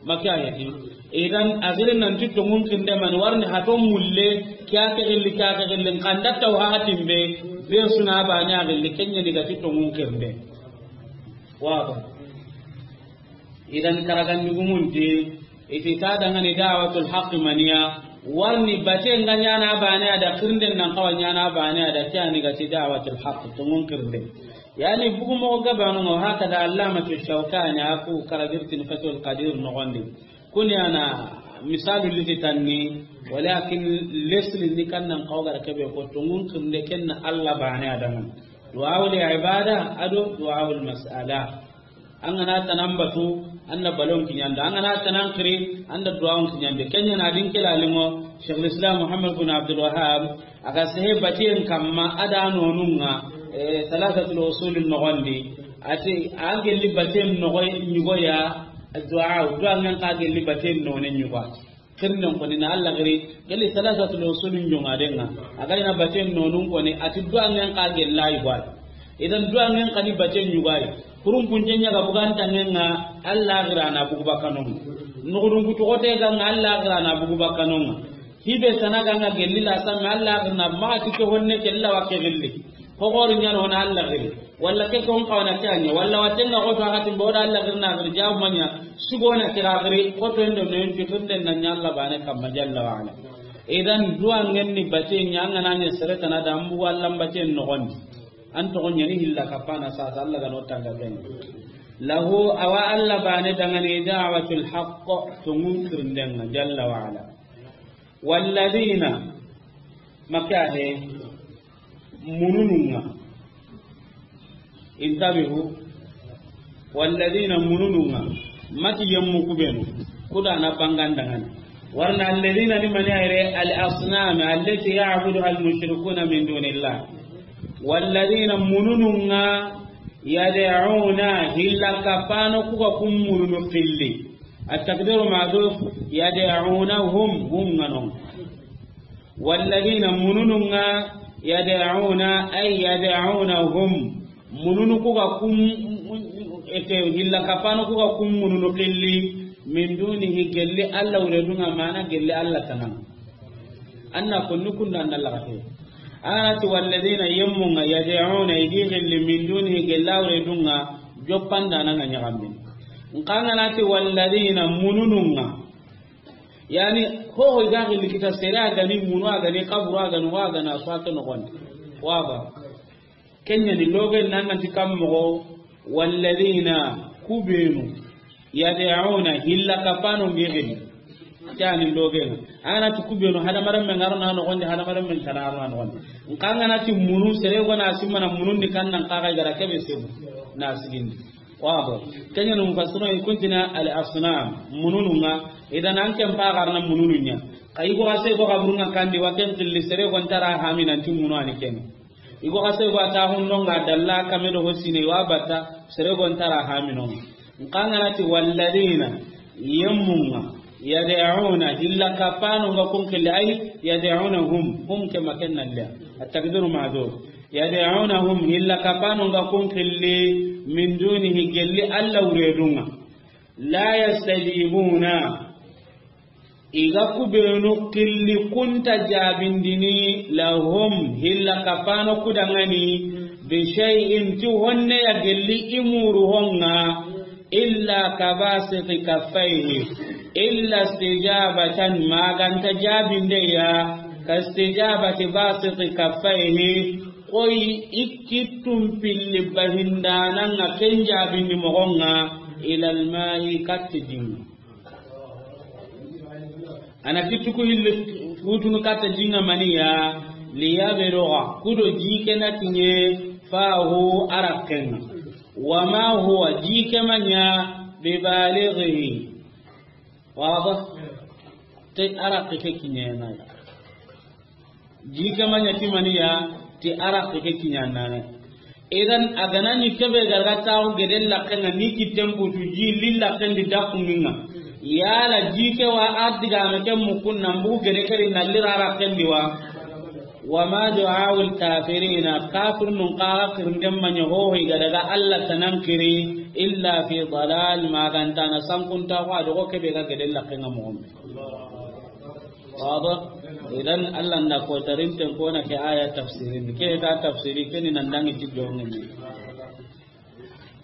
Maka ya ti. Idan a giri nan ti tonŋun xirinde mani, warni hato mulle, kiya ke gilli, kiya ke gilli, nxa an da taw haxa timbe, be su na bane a gilli, ken ɲa ni ga ti tonŋun xirinde. Waba. Idan karagandugumun ti, i ti ta dangani da'watul haqq maniya, warni bate ŋa ɲana bane a da, xirinden nan xawa ɲana bane a da, ke yani ga ti da'watul haqq, tonŋun xirinde. Yani bugu moxo gabanu ŋa, hakada Allamatu Shawkani a ku karagirtin Fathul Qadir no gondi. Kuni ana misalu liti tanni, walakin lesli ni kannan xawa ga da kebe ko tonŋun xirinde ken na Alla bane a dangani. Du'aul ibada a do du'aul mas'ala. An ga na tanan batu, an da balon kiɲandi. An ga na tanan xiri, an da duwawon kiɲandi. Ken ɲa na din kila limo, Sheikhul Islam Muhammad bin Abdul Wahhab, a ga sehe batiyen kamma, a da nonun ŋa, eh, Thalathatul Usul no gondi. A ti, a gelli batiyen no goy, ɲugo ya, du'a, du'a ŋen xa gelli batiyen no ne ɲugo. Xirinden koni na Alla giri, gelli Thalathatul Usul ɲoŋa den ŋa. A ga ina baten nonun koni, a ti du'a ŋen xa gella i gwai. Idan du'a ŋen xa ni baten ɲugai. Kurun punten ɲa ga bugan tangen ŋa, Alla gira na bugu bakanon. Nugudun kutu xote ga ŋa, Alla gira na bugu bakanon. Hibe sana ga ŋa gelli la samme, Alla gira na ma ti ke honne kella wa ke gelli. Xo xori ɲa no na Alla giri. Walla ke kon xawana ke a ɲa. Walla waten ŋa xoto a xatin bo da Alla giri na giri jabu ma ɲa. Sugona kira giri, xoto ndo no yonti xirinde na ɲa Alla bane kamma jalla wa ala. Idan du'a ŋen ni bate ɲa, an ga na ɲa sere tana da, an bugu Alla baten no gondi. An toxo ɲa ni hilla kapana sasa Alla ga no tanga ken. Lahu, awa Alla bane dangani da'watul haqq, tonŋun xirinden ŋa jalla wa ala. Walladina, maka he, mununun ŋa. Intabihu. Walladina, mununun ŋa. Mati yemmu kubenu. Kuda na bangan dangani. Warna alladina ni mani ayre al asnam allati ya'buduha al mushrikuna min dunillah. Walladina, mununun ŋa, yad'una, hilla kapano ku ga kun mununu filli. At taqdiru mahdhuf, yad'unahum, hum ŋa no. Walladina, mununun ŋa, yad'una, ay yad'unahum, mununu ku ga kun, ete, hilla kapano ku ga kun mununu filli, min dunihi, gelli Alla wure dun ŋa, mana gelli Alla tana. Anna kunnu kunda anna lagate. Anati walladina, yemmu ŋa, yad'una, i gi gelli, min dunihi, gelli a wure dun ŋa, joppan dana ŋa ɲaxambe. Nxa an ga na ti walladina, mununun ŋa. Yani, hoho i ga gelli kita sere a ga ni munu, a ga ni kaburu, a ga ni wa, a ga na swata no gondi. Waba. Ken ɲa ni loge nan nan ti kam moxo, walladina, kubenu, yad'una, hilla kapano ŋa giri. Ke ni loge ŋa. An ga na ti kubenu, hadamaren men ŋa ro na no gondi, hadamaren men tana ro na no gondi. Nxa an ga na ti munu, sere go na simana munun di kannan xaxa i ga ra kebe sebu. Na sigindi. Wabo. Kenya no mufassirun i kuntina al asnam, munununga. Idan an ken pa garna munununya. Ka i go ase go kaburunga kandi wa ken qilli sere go ntara hami nan ti munu ani ken. I go ase go ta hundo nga dalla kame do hosine wa batta sere go ntara hami no. Nkangana ti walladina yemmunga yad'una illa kapano nga kun qilli ay yad'unahum hum kama kenna liya. At-taqdiru ma'zuf. Yad'unahum illa kapano nga kun qilli min dunihi gelli Alla wuredunga. La yastajibuna. Iga kubenu qilli kunta jabindini lahum hilla kapano kudangani bi shay'in ti honne ya gelli imuru honga illa kabasiti kaffaihi illa istijabatan maganta jabinde ya ka istijabati basiti kaffaihi. Koy ikkittum pilli bahindananga ken jabindi mogonga ilal ma'i katti dinga. Ana kittu ku hilli futunu katta jinga maniya liyabluga kudo jike na kinye fahu arakenga. Wama huwa jike manya bibalighihi. Waba te arake ke kinye na. Jike manya ti maniya ti arake ke kinye na. Idan a gana ni kebe garga taxu gede laxenga ni kitten putu ji li laxendi daxunginga. Yala jike wa ardigame ke mukunna mbugu gede keri nalli rara kendi wa. Wama du'aul kafirina kafir nun kaga kirnden manya hoho iga daga Allah tanan kiri illa fi dalal magantana sankunta ko adogo kebe ga gede laxenga mu'min. Waba idan Allah nda ko tarinten kona ke aya tafsirin ke ta tafsiri keni nan dangi ti jongeni.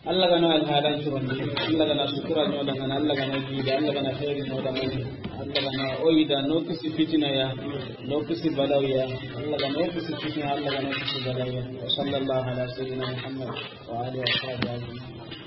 Allah gana alhalan curondi, Allah gana sutura nyoda ngana, Allah gana jida, Allah gana khairi nyoda ngana, Allah gana oyida no kisi fitina ya, no kisi balaw ya, Allah gana no kisi fitina, Allah gana no kisi balaw ya. Wa sallallahu ala sayyidina Muhammad wa alihi wa sahbihi ajma'in.